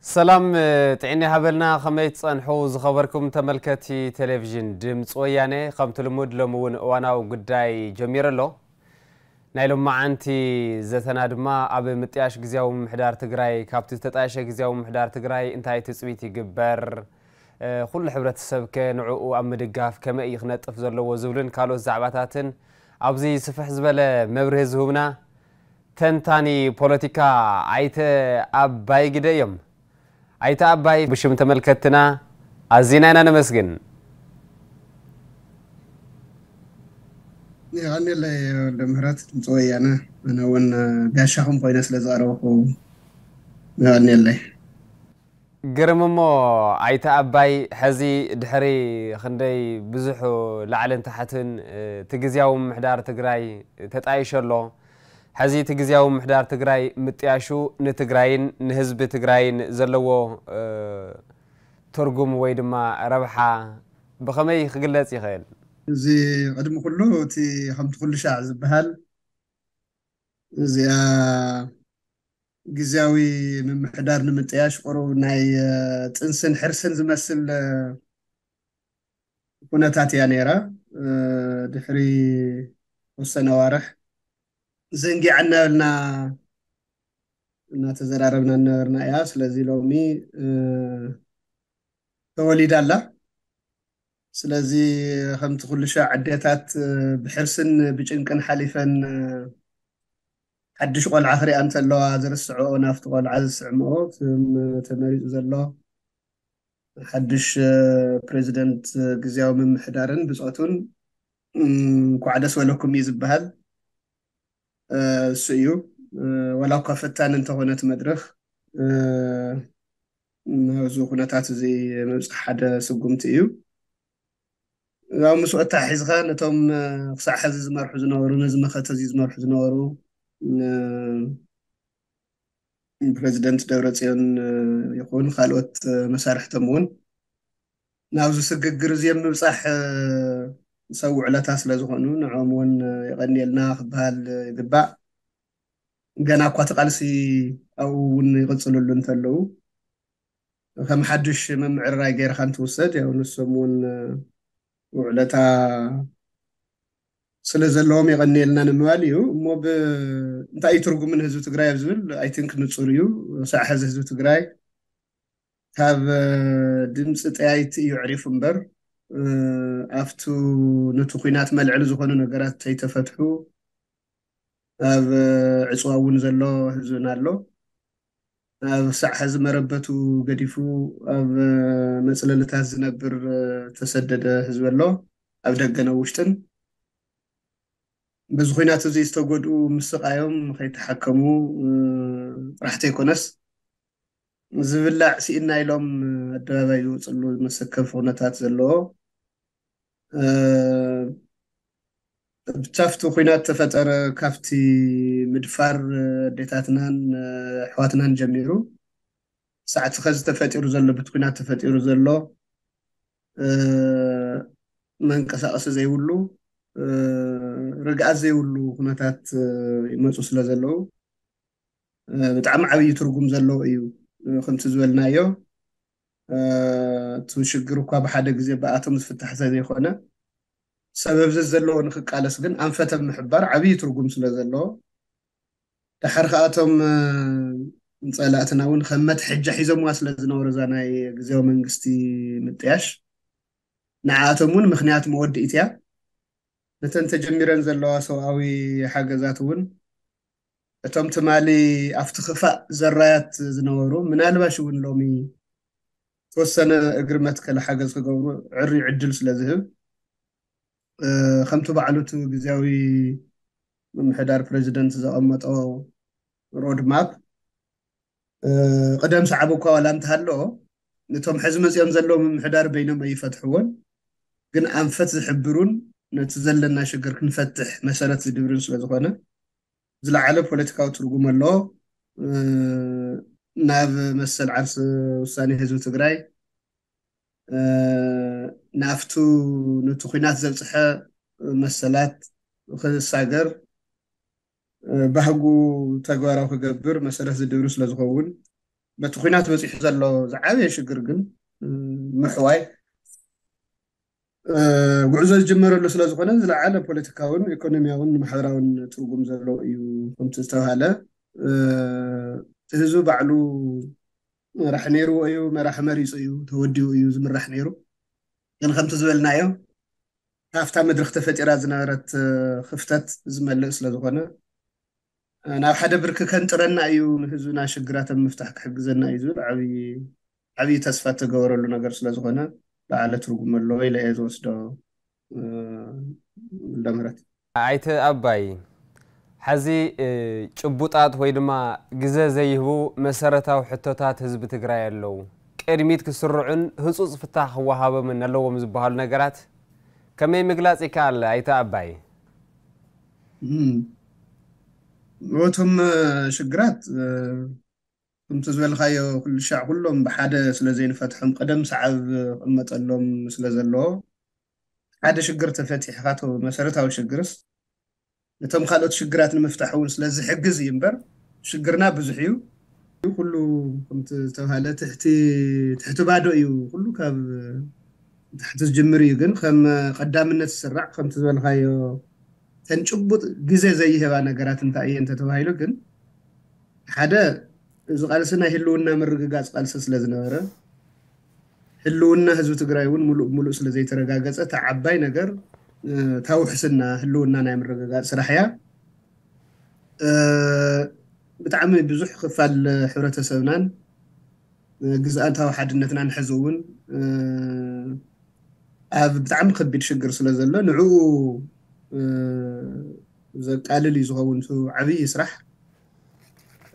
ሰላም ጥዕና ይሃበልና። ከመይ ትጸንሑ ዝኸበርኩም ተመልከቲ ቴሌቪዥን ድምፂ ወያነ? ከምቲ ልሙድ ሎሚ እውን እዋናዊ ጉዳይ ጀሚሩ ኣሎ። ናይ ሎማዓንቲ ዘተና ድማ ኣብ ምጥያሽ ግዝያዊ ምምሕዳር ትግራይ፣ ካብቲ ዝተጣየሸ ግዝያዊ ምምሕዳር ትግራይ እንታይ ትፅቢት ይግበር፣ ኩሉ ሕብረተሰብ ከ ንዕኡ ኣብ ምድጋፍ ከመይ እዩ ክነጥፍ ዘለዎ ዝብልን ካልኦት ዛዕባታትን ኣብዚ ስፍሕ ዝበለ መብርሂ ዝህቡና ተንታኒ ፖለቲካ ኣይተ ኣባይ ግደ እዮም። ኣይተ ኣባይ ብሽም ተመልከትና ኣዚና ኢና ነመስግን። የቐንየለይ ወልደ ምህረት ድምፂ ወያነ። ኣነ እውን ጋሻኹም ኮይነ ስለ ዝቐረብኩ የቐንየለይ። ግርም እሞ ኣይተ ኣባይ፣ ሕዚ ድሕሪ ክንደይ ብዙሕ ላዕልን ታሕትን እቲ ግዝያዊ ምምሕዳር ትግራይ ተጣይሾ ኣሎ። ሕዚ እቲ ግዝያዊ ምምሕዳር ትግራይ ምጥያሹ ንትግራይን ንህዝቢ ትግራይን ዘለዎ ትርጉም ወይ ድማ ረብሓ ብኸመይ ክግለፅ ይኽእል? እዚ ቅድሚ ኩሉ እቲ ከምቲ ኩሉ ሻዕ ዝበሃል እዚኣ ግዝያዊ ምምሕዳር ንምጥያሽ ቁሩብ ናይ ጥንስን ሕርስን ዝመስል ኩነታት እያ ነይራ። ድሕሪ ወሰነ ኣዋርሕ ዘንጊዓ እናበልና እናተዘራረብና እናበርና እያ። ስለዚ ሎሚ ተወሊዳ ኣላ። ስለዚ ከምቲ ኩሉ ሻዕ ኣዴታት ብሕርስን ብጭንቅን ሓሊፈን ሓድሽ ቆልዓ ክሪኣ እንተለዋ ዝርስዕኦ ናፍቲ ቆልዓ ዝስዕምኦ፣ ከም ተመሪፁ ዘሎ ሓድሽ ፕሬዚደንት ግዝያዊ ምምሕዳርን ብፆቱን እንኳዕ ደስ በለኩም እዩ ዝበሃል። እሱ እዩ። ዋላ እኳ ፈታኒ እንተኾነ እቲ መድረኽ፣ ናብዚ ኩነታት እዚ ምብፃሕ ሓደ ስጉምቲ እዩ። ያው ምስኡ ኣተሓሒዝካ ነቶም ክሳዕ ሕዚ ዝመርሑ ዝነበሩ፣ ነዚ መኸተ እዚ ዝመርሑ ዝነበሩ ፕሬዚደንት ደብረፅዮን ይኹን ካልኦት መሳርሕቶም እውን ናብዚ ስግግር እዚ ኣብ ምብፃሕ ሰብ ውዕለታ ስለ ዝኾኑ ንዕኦም እውን የቐንየልና ክበሃል ይግባእ። ገና እኳ እቲ ቃልሲ ኣብኡ እውን ይቕፅልሉ እንተለዉ ከም ሓዱሽ ምምዕርራይ ገይርካ እንትውሰድ ያው ንሶም እውን ውዕለታ ስለ ዘለዎም የቐንየልና ንምባል እዩ። እሞ ብ እንታይ እዩ ትርጉም ንህዝቢ ትግራይ ኣብ ዝብል ኣይ ቲንክ ንፁር እዩ። ሳዕ ሕዚ ህዝቢ ትግራይ ካብ ድምፂ ጠያይቲ እዩ ዕሪፉ እምበር ኣብቱ ነቲ ኲናት መልዕሊ ዝኾኑ ነገራት ተይተፈትሑ ኣብ ዕፅዋ እውን ዘሎ ህዝብና ኣሎ። ኣብ ሳዕ ሕዚ መረበቱ ገዲፉ ኣብ መፅለልታት ዝነብር ተሰደደ ህዝቢ ኣሎ፣ ኣብ ደገን ኣብ ውሽጥን። በዚ ኲናት እዚ ዝተጎድኡ ምስቓዮም ከይተሓከሙ ጥራሕ ተይኮነስ ዝብላዕ ስኢና ኢሎም ኣደባባይ ዝወፅሉ መሰከፊ ኩነታት ዘለዎ ብቻፍቲ ኩናት ተፈጠረ ካብቲ ምድፋር ኣዴታትናን ኣሕዋትናን ጀሚሩ ሳዕቲ ኸዚ ተፈጢሩ ዘሎ ብቲ ኩናት ተፈጢሩ ዘሎ መንቀሳቀሲ ዘይብሉ ርግኣት ዘይብሉ ኩነታት ይመፁ ስለ ዘለዉ ብጣዕሚ ዓብዪ ትርጉም ዘለዎ እዩ። ከምቲ ዝበልናዮ እቲ ሽግር እኳ ብሓደ ግዜ ብኣቶም ዝፍታሕ ዘይኮነ ሰበብ ዘዘለዎ ንክቃለስ ግን ኣንፈት ኣብ ምሕባር ዓብዪ ትርጉም ስለ ዘለዎ ደሓር ከኣቶም ፀላእትና እውን ከም መትሐጃ ሒዞምዋ ስለ ዝነበሩ እዛ ናይ ግዜያዊ መንግስቲ ምጥያሽ ንዓኣቶም እውን ምክንያት መወድኢት እያ። ነተን ተጀሚረን ዘለዋ ሰብኣዊ ሓገዛት እውን እቶም ትማሊ ኣብቲ ክፋእ ዘራያት ዝነበሩ ምናልባሽ እውን ሎሚ ተወሰነ እግሪ መትከል ሓገዝ ክገብሩ ዕሪ ዕድል ስለ ዝህብ ከምቲ ባዕሉ እቲ ግዜያዊ ምምሕዳር ፕሬዚደንት ዘቐመጦ ሮድ ማፕ ቅደም ሰዓብ እኳ ዋላ እንተሃለዎ ነቶም ሕዚ መፅኦም ዘለዉ ምምሕዳር በይኖም ኣይፈትሕዎን ግን ኣንፈት ዝሕብሩን ነቲ ዘለና ሽግር ክንፈትሕ መሰረት ዝድብርን ስለዝኾነ ዝለዓለ ፖለቲካዊ ትርጉም ኣለዎ። ናብ መሰል ዓርሲ ውሳኔ ህዝቢ ትግራይ ናፍቱ ነቲ ኲናት ዘብፅሐ መሰላት ክሳገር ባህጉ ተግባራዊ ክገብር መሰረት ዝድብሩ ስለዝኸውን በቲ ኲናት በፂሑ ዘሎ ዝዓበየ ሽግር ግን ምሕዋይ ጉዕዞ ዝጀመረሉ ስለ ዝኾነ ዝለዓለ ፖለቲካውን ኢኮኖሚያውን ማሕበራውን ትርጉም ዘለዎ እዩ። ከምቲ ዝተባሃለ እቲ ህዝቢ ባዕሉ መራሕ ነይርዎ እዩ፣ መራሒ መሪፁ እዩ፣ ተወዲኡ እዩ ዝምራሕ ነይሩ። ግን ከምቲ ዝበልናዮ ካብታ መድረክ ተፈጢራ ዝነበረት ክፍተት ዝመልእ ስለ ዝኾነ ናብ ሓደ ብርኪ ከንጥረና እዩ፣ ንህዝብና ሽግራት ኣብ ምፍታሕ ክሕግዘና እዩ ዝብል ዓብዪ ዓብዪ ተስፋ እተገበረሉ ነገር ስለ ዝኾነ ዝለዓለ ትርጉም ኣለዎ ኢለ እየ ዝወስዶ። ወልደምህረት። ኣይተ ኣባይ፣ ሐዚ ጭቡጣት ወይ ድማ ግዘ ዘይህቡ መሰረታዊ ሕቶታት ህዝቢ ትግራይ ኣለዉ። ቅድሚት ክስርዑን ህፁፅ ፍታሕ ክወሃቦምን ኣለዎም ዝበሃሉ ነገራት ከመይ ምግላፅ ይከኣል? ኣይተ ኣባይ። እቶም ሽግራት ከምቲ ዝበልካዮ ኩሉ ሻዕ ኩሎም ብሓደ ስለ ዘይንፈትሖም ቀደም ሰዓብ ክቕመጠሎም ስለ ዘለዎ ሓደ ሽግር ተፈቲሕካ ቶ መሰረታዊ ሽግርስ ነቶም ካልኦት ሽግራት ንምፍታሕ እውን ስለ ዝሕግዝ እዩ እምበር ሽግርና ብዙሕ እዩ። ኩሉ ከምቲ ዝተባሃለ ትሕቲ ትሕቲ ባዶ እዩ። ኩሉ ካብ ታሕቲ ዝጅምር እዩ። ግን ከም ቀዳምነት ዝስራዕ ከምቲ ዝበልካዮ ተን ጭቡጥ ግዜ ዘይህባ ነገራት እንታይ እየ እንተተባሂሉ ግን ሓደ እዚ ቃልሲ ናይ ህልውና ምርግጋፅ ቃልሲ ስለ ዝነበረ ህልውና ህዝቢ ትግራይ እውን ሙሉእ ሙሉእ ስለ ዘይተረጋገፀ እታ ዓባይ ነገር እታ ውሕስና ህልውና ናይ ምርግጋፅ ስራሕ እያ። ብጣዕሚ ብዙሕ ክፋል ሕብረተሰብናን ግዝኣታዊ ሓድነትናን ሕዚ እውን ኣብ ብጣዕሚ ከቢድ ሽግር ስለ ዘሎ ንዕኡ ዘቃልል እዩ ዝኸውን እቲ ዓብዪ ስራሕ።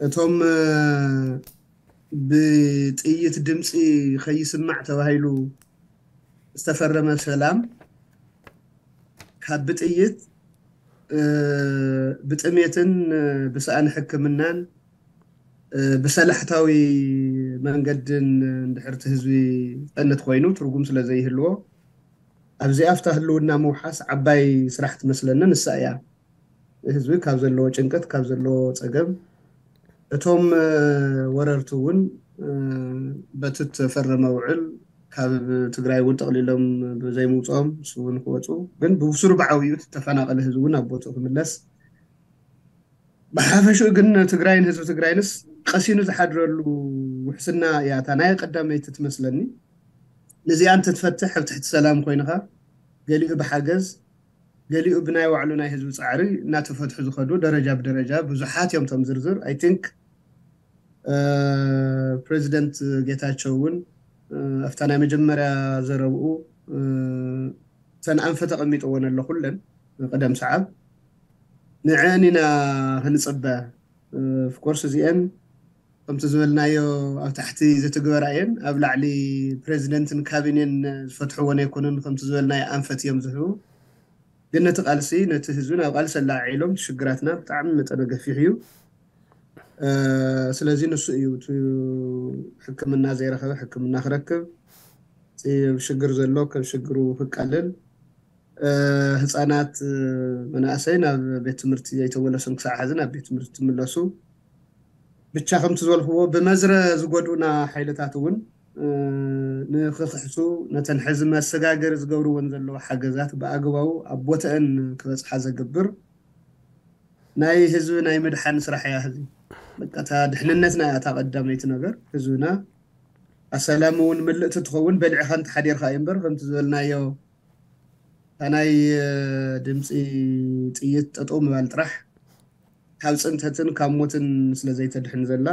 እቶም ብጥይት ድምፂ ከይስማዕ ተባሂሉ ዝተፈረመ ሰላም ካብ ብጥይት ብጥሜትን ብሰኣን ሕክምናን ብሰላሕታዊ መንገድን እንድሕር እቲ ህዝቢ ዝፀንት ኮይኑ ትርጉም ስለ ዘይህልዎ ኣብዚኣ ኣብታ ህልውና ምውሓስ ዓባይ ስራሕ ትመስለኒ ንሳ እያ። ህዝቢ ካብ ዘለዎ ጭንቀት ካብ ዘለዎ ፀገም እቶም ወረርቲ እውን በቲ ተፈረመ ውዕል ካብ ትግራይ እውን ጠቕሊሎም ብዘይምውፅኦም ንሱ እውን ክወፁ ግን ብብሱሩ ብዓብዩ ተፈናቐለ ህዝቢ እውን ኣብ ቦትኡ ክምለስ ብሓፈሽኡ ግን ትግራይን ህዝቢ ትግራይንስ ቀሲኑ ዝሓድረሉ ውሕስና እያ እታ ናይ ቀዳመይቲ ትመስለኒ። ንዚኣ እንተትፈትሕ ኣብ ትሕቲ ሰላም ኮይንኻ ገሊኡ ብሓገዝ ገሊኡ ብናይ ባዕሉ ናይ ህዝቢ ፃዕሪ እናተፈትሑ ዝኸዱ ደረጃ ብደረጃ ብዙሓት እዮም። ቶም ዝርዝር I think ፕሬዚደንት ጌታቸው እውን ኣብታ ናይ መጀመርያ ዘረብኡ እተን ኣንፈት ኣቐሚጥወን ኣሎ ኩለን ቀደም ሰዓብ ንዐን ኢና ክንፅበ። Of course እዚአን ከምቲ ዝበልናዮ ኣብ ታሕቲ ዝትግበራ እየን። ኣብ ላዕሊ ፕሬዚደንትን ካቢኔን ዝፈትሕወን ኣይኮኑን። ከምቲ ዝበልናዮ ኣንፈት እዮም ዝህቡ። ግን ነቲ ቃልሲ ነቲ ህዝቢ ናብ ቃልሲ ኣላዒሎም ሽግራትና ብጣዕሚ መጠነ ገፊሕ እዩ። ስለዚ ንሱ እዩ እቲ ሕክምና ዘይረኸበ ሕክምና ክረክብ፣ እቲ ሽግር ዘሎ ካብ ሽግሩ ክቃልል፣ ህፃናት መናእሰይ ናብ ቤት ትምህርቲ ዘይተመለሱን ክሳዕ ሕዚ ናብ ቤት ትምህርቲ ትምለሱ ብቻ ከምቲ ዝበልክዎ ብመዝረ ዝጎድኡና ሓይልታት እውን ንክክሕሱ ነተን ሕዚ መሰጋገሪ ዝገብርወን ዘለዉ ሓገዛት ብኣግባቡ ኣብ ቦተአን ክበፅሓ ዘግብር ናይ ህዝቢ ናይ ምድሓን ስራሕ እያ። ህዚ በቃ እታ ድሕንነትና እያ እታ ቀዳመይቲ ነገር። ህዝብና ኣሰላም እውን ምልእቲ ትኸውን በሊዕኻ እንተሓዲርካ እዩ እምበር ከምቲ ዝበልናዮ እታ ናይ ድምፂ ጥይት ጠጠው ምባል ጥራሕ ካብ ፅንተትን ካብ ሞትን ስለ ዘይተድሕን ዘላ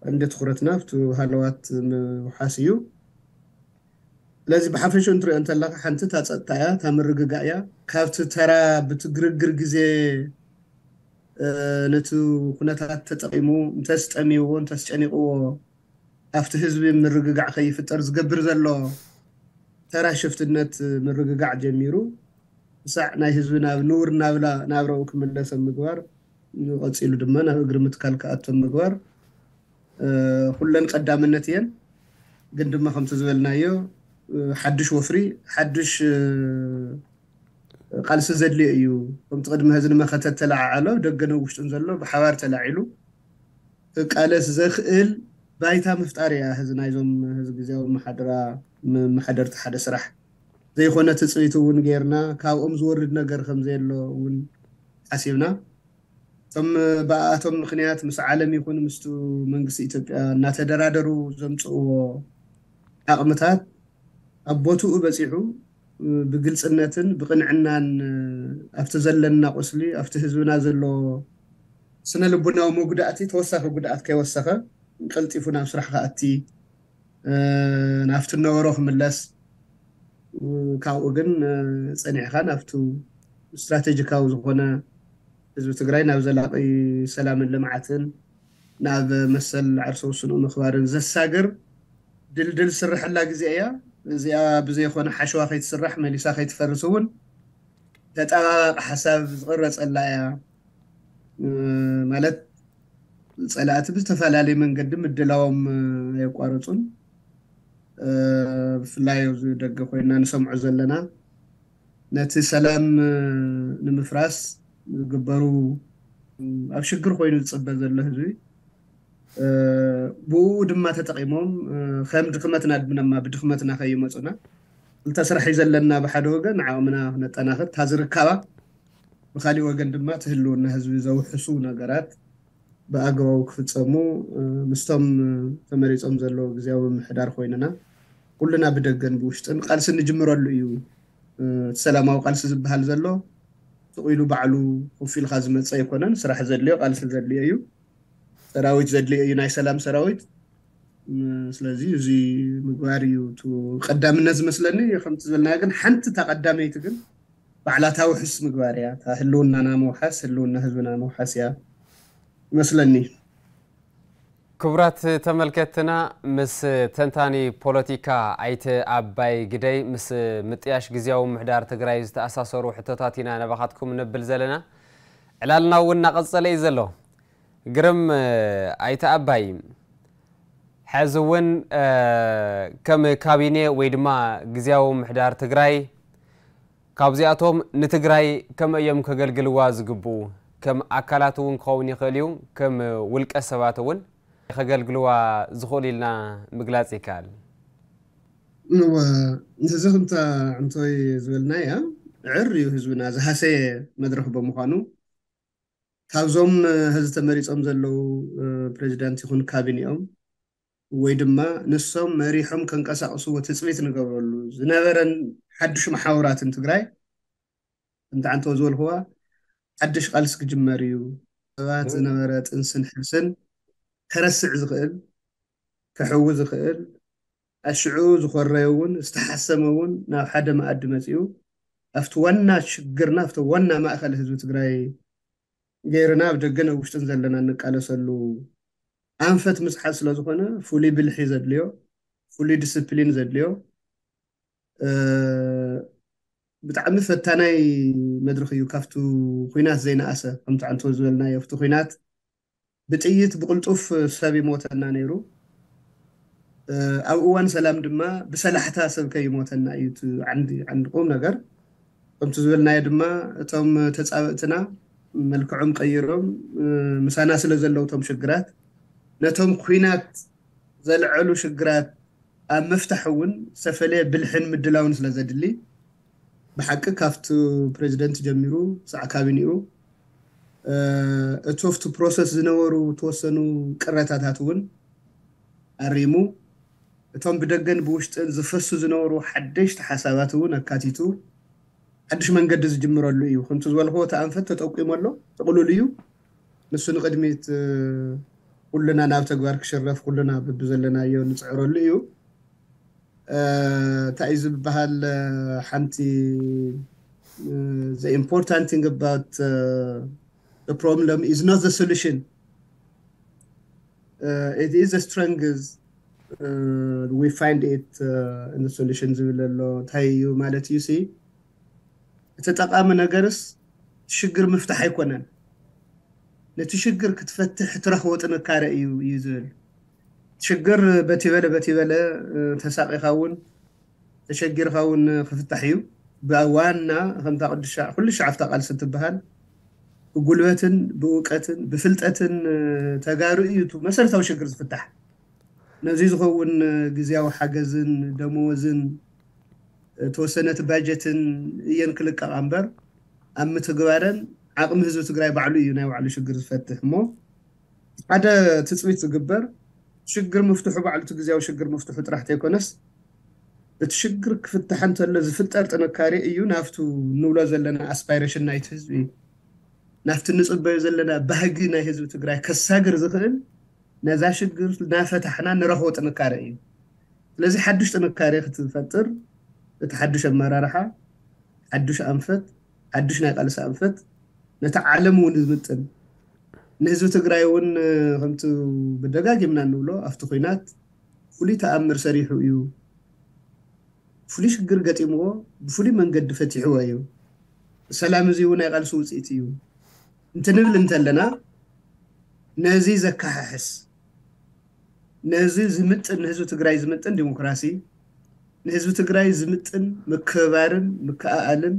ቀንዲ ትኹረትና ኣብቲ ሃለዋት ምውሓስ እዩ። ስለዚ ብሓፈሽኡ እንትሪኦ እንተለካ ሓንቲ እታ ፀጥታ እያ፣ እታ ምርግጋእ እያ። ካብቲ ተራ ብትግርግር ግዜ ነቲ ኩነታት ተጠቒሙ እንተስጠሚዎ እንተስጨኒቕዎ ኣብቲ ህዝቢ ምርግጋዕ ከይፍጠር ዝገብር ዘሎ ተራ ሽፍትነት ምርግጋዕ ጀሚሩ ክሳዕ ናይ ህዝቢ ናብ ንቡር ናብላ ናብራኡ ክምለስ ኣብ ምግባር ንቐፂሉ ድማ ናብ እግሪ ምትካል ክኣቱ ኣብ ምግባር ኩለን ቀዳምነት እየን። ግን ድማ ከምቲ ዝበልናዮ ሓድሽ ወፍሪ ሓድሽ ቃልሲ ዘድልዮ እዩ። ከምቲ ቅድሚ ሕዚ ንመኸተ ተለዓዓሎ ደገን ውሽጥን ዘሎ ብሓባር ተላዒሉ ክቃለስ ዘኽእል ባይታ ምፍጣር እያ። ህዚ ናይዞም ህዚ ግዜያዊ መሓደራ መሓደርቲ ሓደ ስራሕ ዘይኮነ ትፅቢት እውን ጌርና ካብኦም ዝወርድ ነገር ከም ዘየሎ እውን ሓሲብና እቶም ብኣቶም ምክንያት ምስ ዓለም ይኹን ምስቱ መንግስቲ ኢትዮጵያ እናተደራደሩ ዘምፅእዎ ዓቕምታት ኣብ ቦትኡ በፂሑ ብግልፅነትን ብቕንዕናን ኣብቲ ዘለና ቁስሊ ኣብቲ ህዝብና ዘሎ ስነ ልቡናዊ መጉዳእቲ ተወሳኺ ጉድኣት ከይወሰኸ ቀልጢፉ ናብ ስራሕ ክኣቲ ናብቲ ነበሮ ክምለስ ካብኡ ግን ፀኒዕካ ናብቲ ስትራቴጂካዊ ዝኾነ ህዝቢ ትግራይ ናብ ዘላቂ ሰላምን ልምዓትን ናብ መሰል ዓርሰ ውስንኡ ምኽባርን ዘሳግር ድልድል ስርሐላ ግዜ እያ። እዚኣ ብዘይኮነ ሓሸዋ ከይትስራሕ መሊሳ ከይትፈርስ እውን ተጣባባቂ ሓሳብ ዝቕረፀላ እያ። ማለት ፀላእቲ ብዝተፈላለየ መንገዲ ምድላዎም ኣየቋረፁን። ብፍላይ ኣብዚ ደገ ኮይና ንሰምዖ ዘለና ነቲ ሰላም ንምፍራስ ዝግበሩ ኣብ ሽግር ኮይኑ ዝፅበ ዘሎ ህዝቢ ብኡ ድማ ተጠቂሞም ከም ድክመትና ድማ ብድክመትና ከይመፁና ክልተ ስራሕ እዩ ዘለና። ብሓደ ወገን ዓቕምና ክነጠናኽር እታ ዝርካባ፣ ብካሊእ ወገን ድማ እቲ ህልውና ህዝቢ ዘውሕሱ ነገራት ብኣግባቡ ክፍፀሙ ምስቶም ተመሪፆም ዘለዉ ግዜያዊ ምምሕዳር ኮይንና ኩልና ብደገን ብውሽጥን ቃልሲ እንጅምረሉ እዩ። እቲ ሰላማዊ ቃልሲ ዝበሃል ዘሎ ስቕ ኢሉ ባዕሉ ኮፍ ኢልካ ዝመፀ ኣይኮነን። ስራሕ ዘድልዮ ቃልሲ ዘድልዮ እዩ። ሰራዊት ዘድልዮ እዩ፣ ናይ ሰላም ሰራዊት። ስለዚ እዚ ምግባር እዩ እቲ ቀዳምነት ዝመስለኒ። ከምቲ ዝበልና ግን ሓንቲ እታ ቀዳመይቲ ግን ባዕላታ ውሕስ ምግባር እያ። እታ ህልውናና መውሓስ፣ ህልውና ህዝብና መውሓስ እያ ይመስለኒ። ክቡራት ተመልከትና፣ ምስ ተንታኒ ፖለቲካ ኣይተ ኣባይ ግደይ ምስ ምጥያሽ ግዜያዊ ምሕዳር ትግራይ ዝተኣሳሰሩ ሕቶታት ኢና ነባኻትኩም ነብል ዘለና። ዕላልና እውን እናቐጸለ እዩ ዘሎ። ግርም ኣይተ ኣባይ፣ ሕዚ እውን ከም ካቢኔ ወይ ድማ ግዜያዊ ምሕዳር ትግራይ ካብዚኣቶም ንትግራይ ከመይ እዮም ከገልግልዋ ዝግብኡ? ከም ኣካላት እውን ክኸውን ይኽእል እዩ፣ ከም ውልቀ ሰባት እውን ከገልግልዋ ዝኽእሉ ኢልና ምግላፅ ይከኣል። እወ፣ እዚ ከምታ ዕምቶይ ዝበልናያ ዕር እዩ ህዝብና ዝሃሰየ መድረኽ ብምዃኑ ካብዞም ህዚ ተመሪፆም ዘለዉ ፕሬዚዳንት ይኹን ካቢኔኦም ወይ ድማ ንሶም መሪሖም ከንቀሳቕስዎ ትፅቢት ንገብረሉ ዝነበረን ሓዱሽ መሓውራትን ትግራይ እንተዓንተው ዝበልክዋ ሓድሽ ቃልሲ ክጅመር እዩ። ሰባት ዝነበረ ጥንስን ሕርስን ከረስዕ ዝኽእል ከሕዊ ዝኽእል ኣሽዑ ዝኾረየ እውን ዝተሓሰመ እውን ናብ ሓደ መኣዲ መፂኡ ኣብቲ ዋና ሽግርና ኣብቲ ዋና ማእኸል ህዝቢ ትግራይ ገይርና ኣብ ደገን ኣብ ውሽጥን ዘለና እንቃለሰሉ ኣንፈት ምፅሓት ስለዝኾነ ፍሉይ ብልሒ ዘድልዮ ፍሉይ ዲስፕሊን ዘድልዮ ብጣዕሚ ፈታናይ መድረኽ እዩ። ካብቲ ኩናት ዘይነኣሰ ከምቲ ዓንቶ ዝበልናዮ ኣብቲ ኩናት ብጥይት ብቕልጡፍ ሰብ ይሞተና ነይሩ። ኣብ እዋን ሰላም ድማ ብሰላሕታ ሰብ ከይሞተና እዩ ዓንዲ ዓንዲ ቁም ነገር። ከምቲ ዝበልናዮ ድማ እቶም ተፃበእትና መልክዖም ቀይሮም ምሳና ስለ ዘለዉ እቶም ሽግራት ነቶም ኩናት ዘልዐሉ ሽግራት ኣብ ምፍታሕ እውን ዝተፈለየ ብልሕን ምድላውን ስለ ዘድሊ ብሓቂ ካብቲ ፕሬዚደንት ጀሚሩ ሳዕ ካቢኒኡ እቲ ኣብቲ ፕሮሰስ ዝነበሩ ተወሰኑ ቅረታታት እውን ኣሪሙ እቶም ብደገን ብውሽጥን ዝፈሱ ዝነበሩ ሓደሽቲ ሓሳባት እውን ኣካቲቱ ሓድሽ መንገዲ ዝጅምረሉ እዩ። ከምቲ ዝበልክዎ እቲ ኣንፈት ተጠቂሙ ኣሎ፣ ጥቕሉል እዩ። ንሱ ንቕድሚት ኩልና ናብ ተግባር ክሽረፍ ኩልና ብብዘለናዮ ንፅዕረሉ እዩ። እንታይ እዩ ዝበሃል ሓንቲ the important thing about the problem is not the solution, it is the strength we find it in the solution ዝብል ኣሎ እንታይ እዩ ማለት እዩ ሲ እቲ ጠቃሚ ነገርስ ሽግር ምፍታሕ ኣይኮነን። ነቲ ሽግር ክትፈትሕ ትረኽቦ ጥንካረ እዩ እዩ ዝብል ሽግር በቲ በለ በቲ በለ ተሳቂኻ እውን ተሸጊርካ እውን ክፍታሕ እዩ። ብዋና ከምታ ቅዱሻ ኩሉ ሻዕፍታ ቃልሲ ትበሃል ብጉልበትን ብእውቀትን ብፍልጠትን ተጋሩ እዩ መሰረታዊ ሽግር ዝፍታሕ። ነዚ ዝኸውን ግዝያዊ ሓገዝን ደመወዝን ተወሰነ እቲ ባጀትን እየን ክልቀቓ እምበር፣ ኣብ ምትግባረን ዓቕሚ ህዝቢ ትግራይ ባዕሉ እዩ ናይ ባዕሉ ሽግር ዝፈትሕ። እሞ ሓደ ትፅቢት ዝግበር ሽግር ምፍትሑ ባዕሉ እቲ ግዝያዊ ሽግር ምፍትሑ ጥራሕ ተይኮነስ፣ እቲ ሽግር ክፍታሕ እንተሎ ዝፍጠር ጥንካሬ እዩ ናብቱ ንብሎ ዘለና ኣስፓይሬሽን ናይቲ ህዝቢ፣ ናብቲ ንፅበዮ ዘለና ባህጊ ናይ ህዝቢ ትግራይ ከሳግር ዝኽእል፣ ነዛ ሽግር ናፈታሕና ንረኽቦ ጥንካሬ እዩ። ስለዚ ሓዱሽ ጥንካሬ ክትፈጥር፣ እቲ ሓዱሽ ኣመራርሓ ሓዱሽ ኣንፈት፣ ሓዱሽ ናይ ቃልሲ ኣንፈት፣ ነቲ ዓለም እውን ዝምጥን፣ ንህዝቢ ትግራይ እውን ከምቲ ብደጋጊምና እንብሎ ኣብቲ ኹናት ፍሉይ ተኣምር ሰሪሑ እዩ። ፍሉይ ሽግር ገጢምዎ ብፍሉይ መንገዲ ፈቲሕዎ እዩ። ሰላም እዚ እውን ናይ ቃልሲ ውፅኢት እዩ እንትንብል እንተለና፣ ነዚ ዘከሓሕስ፣ ነዚ ዝምጥን፣ ንህዝቢ ትግራይ ዝምጥን ዲሞክራሲ፣ ንህዝቢ ትግራይ ዝምጥን ምክብባርን ምክኣኣልን፣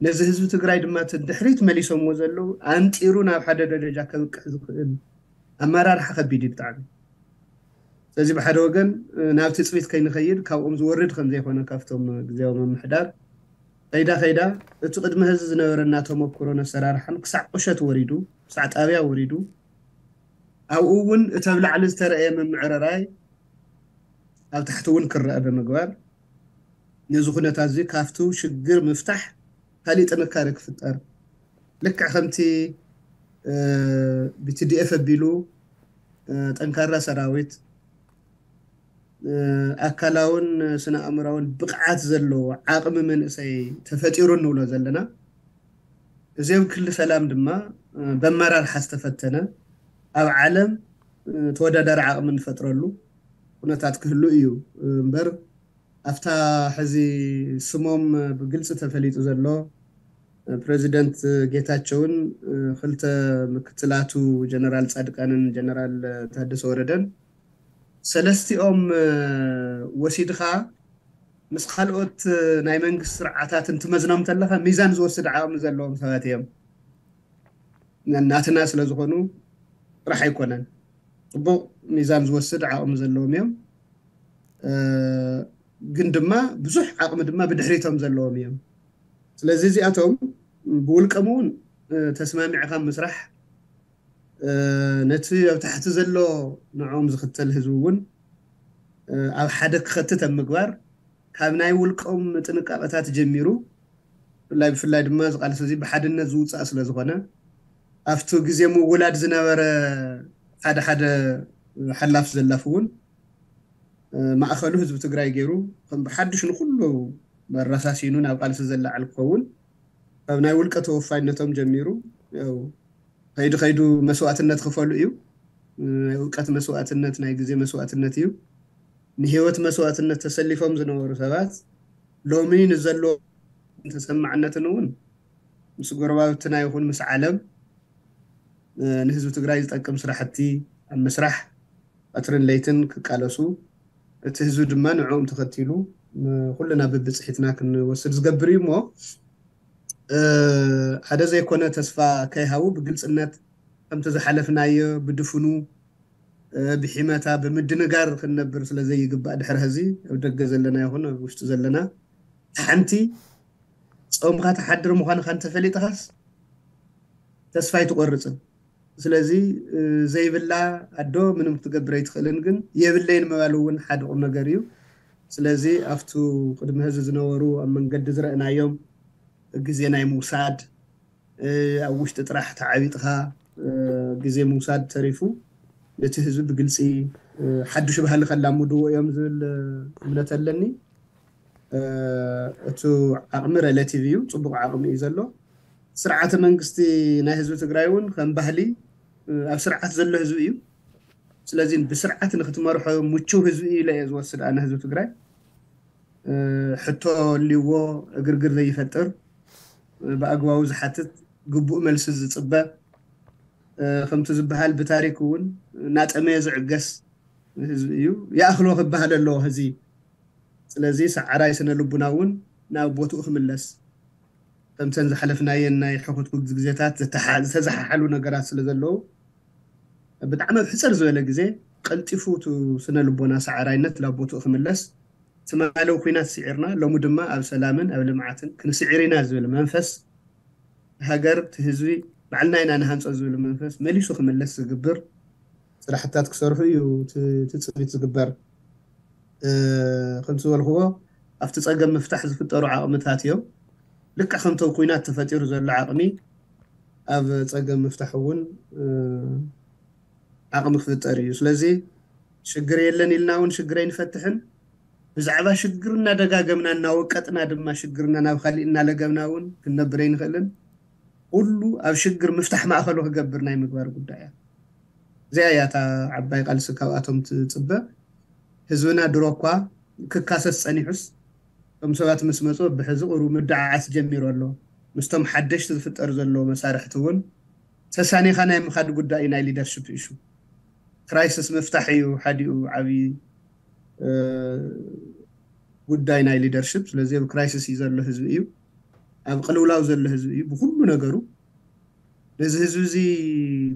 ነዚ ህዝቢ ትግራይ ድማ እቲ ድሕሪት መሊሶምዎ ዘለዉ ኣንጢሩ ናብ ሓደ ደረጃ ከብቅዕ ዝኽእል ኣመራርሓ ከቢድ እዩ ብጣዕሚ። ስለዚ ብሓደ ወገን ናብ ትፅቢት ከይንኸይድ ካብኦም ዝወርድ ከም ዘይኮነ ካብቶም ግዝያዊ ምምሕዳር ከይዳ ከይዳ እቲ ቅድሚ ሕዚ ዝነበረና ተመክሮን ኣሰራርሓን ክሳዕ ቁሸት ወሪዱ፣ ክሳዕ ጣብያ ወሪዱ፣ ኣብኡ እውን እቲ ኣብ ላዕሊ ዝተረኣየ ምምዕርራይ ኣብ ታሕቲ እውን ክረኣ ብምግባር፣ ነዚ ኩነታት እዚ ካብቲ ሽግር ምፍታሕ ካሊእ ጥንካሬ ክፍጠር፣ ልክዕ ከምቲ ብ ቲ ዲ ኤፍ ኣቢሉ ጠንካራ ሰራዊት፣ ኣካላውን ስነ ኣእምራውን ብቕዓት ዘለዎ ዓቕሚ መንእሰይ ተፈጢሩ እንብሎ ዘለና፣ እዚ ኣብ ክሊ ሰላም ድማ በመራርሓ ዝተፈተነ፣ ኣብ ዓለም ተወዳዳሪ ዓቕሚ እንፈጥረሉ ኩነታት ክህሉ እዩ እምበር፣ ኣብታ ሕዚ ስሞም ብግልፂ ተፈሊጡ ዘሎ ፕረዚደንት ጌታቸውን ክልተ ምክትላቱ ጀነራል ፃድቃንን ጀነራል ታደሰ ወረደን ሰለስቲኦም ወሲድኻ ምስ ካልኦት ናይ መንግስቲ ስርዓታት እንትመዝኖም ተለኻ ሚዛን ዝወስድ ዓቕሚ ዘለዎም ሰባት እዮም። ናትና ስለ ዝኾኑ ጥራሕ ኣይኮነን፣ ፅቡቕ ሚዛን ዝወስድ ዓቕሚ ዘለዎም እዮም። ግን ድማ ብዙሕ ዓቕሚ ድማ ብድሕሪቶም ዘለዎም እዮም። ስለዚ እዚኣቶም ብውልቀም እውን ተስማሚዕካ ምስራሕ፣ ነቲ ኣብ ታሕቲ ዘሎ ንዕኦም ዝኽተል ህዝቢ እውን ኣብ ሓደ ክኸትት ኣብ ምግባር፣ ካብ ናይ ውልቀም ጥንቃቐታት ጀሚሩ፣ ብፍላይ ብፍላይ ድማ እዚ ቃልሲ እዚ ብሓድነት ዝውፃእ ስለ ዝኾነ፣ ኣብቲ ግዜ ምውላድ ዝነበረ ሓደ ሓደ ሓላፍ ዘላፍ እውን ማእኸሉ ህዝቢ ትግራይ ገይሩ ከም ብሓዱሽ ንኩሉ መረሳሲኑ ናብ ቃልሲ ዘላዓል ክኸውን፣ ካብ ናይ ውልቀ ተወፋይነቶም ጀሚሩ፣ ያው ከይዱ ከይዱ መስዋእትነት ክፈሉ እዩ። ናይ እውቀት መስዋእትነት፣ ናይ ግዜ መስዋእትነት እዩ። ንህይወት መስዋእትነት ተሰሊፎም ዝነበሩ ሰባት ሎሚ ንዘሎ ተሰማዕነትን እውን ምስ ጎረባብትና ይኹን ምስ ዓለም ንህዝቢ ትግራይ ዝጠቅም ስራሕቲ ኣብ ምስራሕ ቀትርን ለይትን ክቃለሱ፣ እቲ ህዝቢ ድማ ንዕኦም ተኸቲሉ ኩልና ብብፅሒትና ክንወስድ ዝገብር እዩ። እሞ ሓደ ዘይኮነ ተስፋ ከይሃቡ ብግልፅነት ከምቲ ዝሓለፍናዮ ብድፍኑ ብሒመታ ብምድንጋር ክንነብር ስለ ዘይግባእ፣ ድሕሪ ሕዚ ኣብ ደገ ዘለና ይኹን ኣብ ውሽጢ ዘለና ሓንቲ ጾምካ ትሓድር ምዃንካ እንተፈሊጥኻስ ተስፋ ኣይትቆርፅን። ስለዚ ዘይብላ ኣዶ ምንም ክትገብር ኣይትኽእልን፣ ግን የብለይን ምባል እውን ሓደ ቁም ነገር እዩ። ስለዚ ኣብቱ ቅድሚ ሕዚ ዝነበሩ ኣብ መንገዲ ዝረእናዮም ግዜ ናይ ምውሳድ፣ ኣብ ውሽጢ ጥራሕ ተዓቢጥኻ ግዜ ምውሳድ ተሪፉ ነቲ ህዝቢ ብግልፂ ሓዱሽ ባህሊ ከላምድዎ እዮም ዝብል እምነት ኣለኒ። እቲ ዓቕሚ ሬሌቲቭ እዩ፣ ፅቡቕ ዓቕሚ እዩ ዘሎ። ስርዓተ መንግስቲ ናይ ህዝቢ ትግራይ እውን ከም ባህሊ ኣብ ስርዓት ዘሎ ህዝቢ እዩ። ስለዚ ብስርዓት ንክትመርሖ ምችው ህዝቢ እዩ ኢለ እየ ዝወስድ ኣነ። ህዝቢ ትግራይ ሕቶ ኣልዎ እግርግር ዘይፈጥር፣ ብኣግባቡ ዝሓትት፣ ግቡእ መልሲ ዝፅበ፣ ከምቲ ዝበሃል ብታሪክ እውን እናጠመየ ዝዕገስ ህዝቢ እዩ። ይኣኽሎ ክበሃል ኣለዎ ህዚ። ስለዚ ሰዓራይ ስነ ልቡና እውን ናብ ቦትኡ ክምለስ፣ ከምተን ዝሓለፍናየን ናይ ሕኹት ግዜታት ዝተሓ-፣ ዝተዘሓሓሉ ነገራት ስለ ዘለዉ፣ ብጣዕሚ ኣብ ሕፅር ዝበለ ግዜ ቀልጢፉ እቲ ስነ ልቦና ሰዓራይነት ናብ ቦትኡ ክምለስ፣ ትማሊ ኩናት ስዒርና ሎሚ ድማ ኣብ ሰላምን ኣብ ልምዓትን ክንስዕር ኢና ዝብል መንፈስ፣ ሃገር፣ እቲ ህዝቢ ባዕልና ኢና ንሃንጾ ዝብል መንፈስ መሊሱ ክምለስ ዝግብር ስራሕታት ክሰርሑ እዩ እቲ ትጽቢት ዝግበር። ከምቲ ዝበልክዎ ኣብቲ ጸገም ምፍታሕ ዝፍጠሩ ዓቕምታት እዮም። ልክዕ ከምቶም ኩናት ተፈጢሩ ዘሎ ዓቕሚ ኣብ ጸገም ምፍታሕ እውን ዓቕሚ ክፍጠር እዩ። ስለዚ ሽግር የለን ኢልና እውን ሽግር ኣይንፈትሕን። ብዛዕባ ሽግር እናደጋገምና እናወቀጥና ድማ ሽግርና ናብ ካሊእ እናለገምና እውን ክንነብር ኣይንኽእልን። ኩሉ ኣብ ሽግር ምፍታሕ ማእኸሉ ክገብር ናይ ምግባር ጉዳይ እያ። እዚኣ እያ እታ ዓባይ ቃልሲ ካብኣቶም ትፅበ። ህዝብና ድሮ እኳ ክካሰስ ፀኒሑስ እቶም ሰባት ምስ መፁ ብሕዚ ቁሩብ ምድዓዓስ ጀሚሩ ኣሎ። ምስቶም ሓደሽቲ ዝፍጠር ዘሎ መሳርሕቲ እውን ተሳኒኻ ናይ ምኻድ ጉዳይ እዩ ናይ ሊደርሽፕ ኢሹ። ክራይሲስ ምፍታሕ እዩ ሓዲኡ ዓብዪ ጉዳይ ናይ ሊደርሽፕ። ስለዚ ኣብ ክራይሲስ እዩ ዘሎ ህዝቢ እዩ፣ ኣብ ቅልውላው ዘሎ ህዝቢ እዩ ብኩሉ ነገሩ። ነዚ ህዝቢ እዚ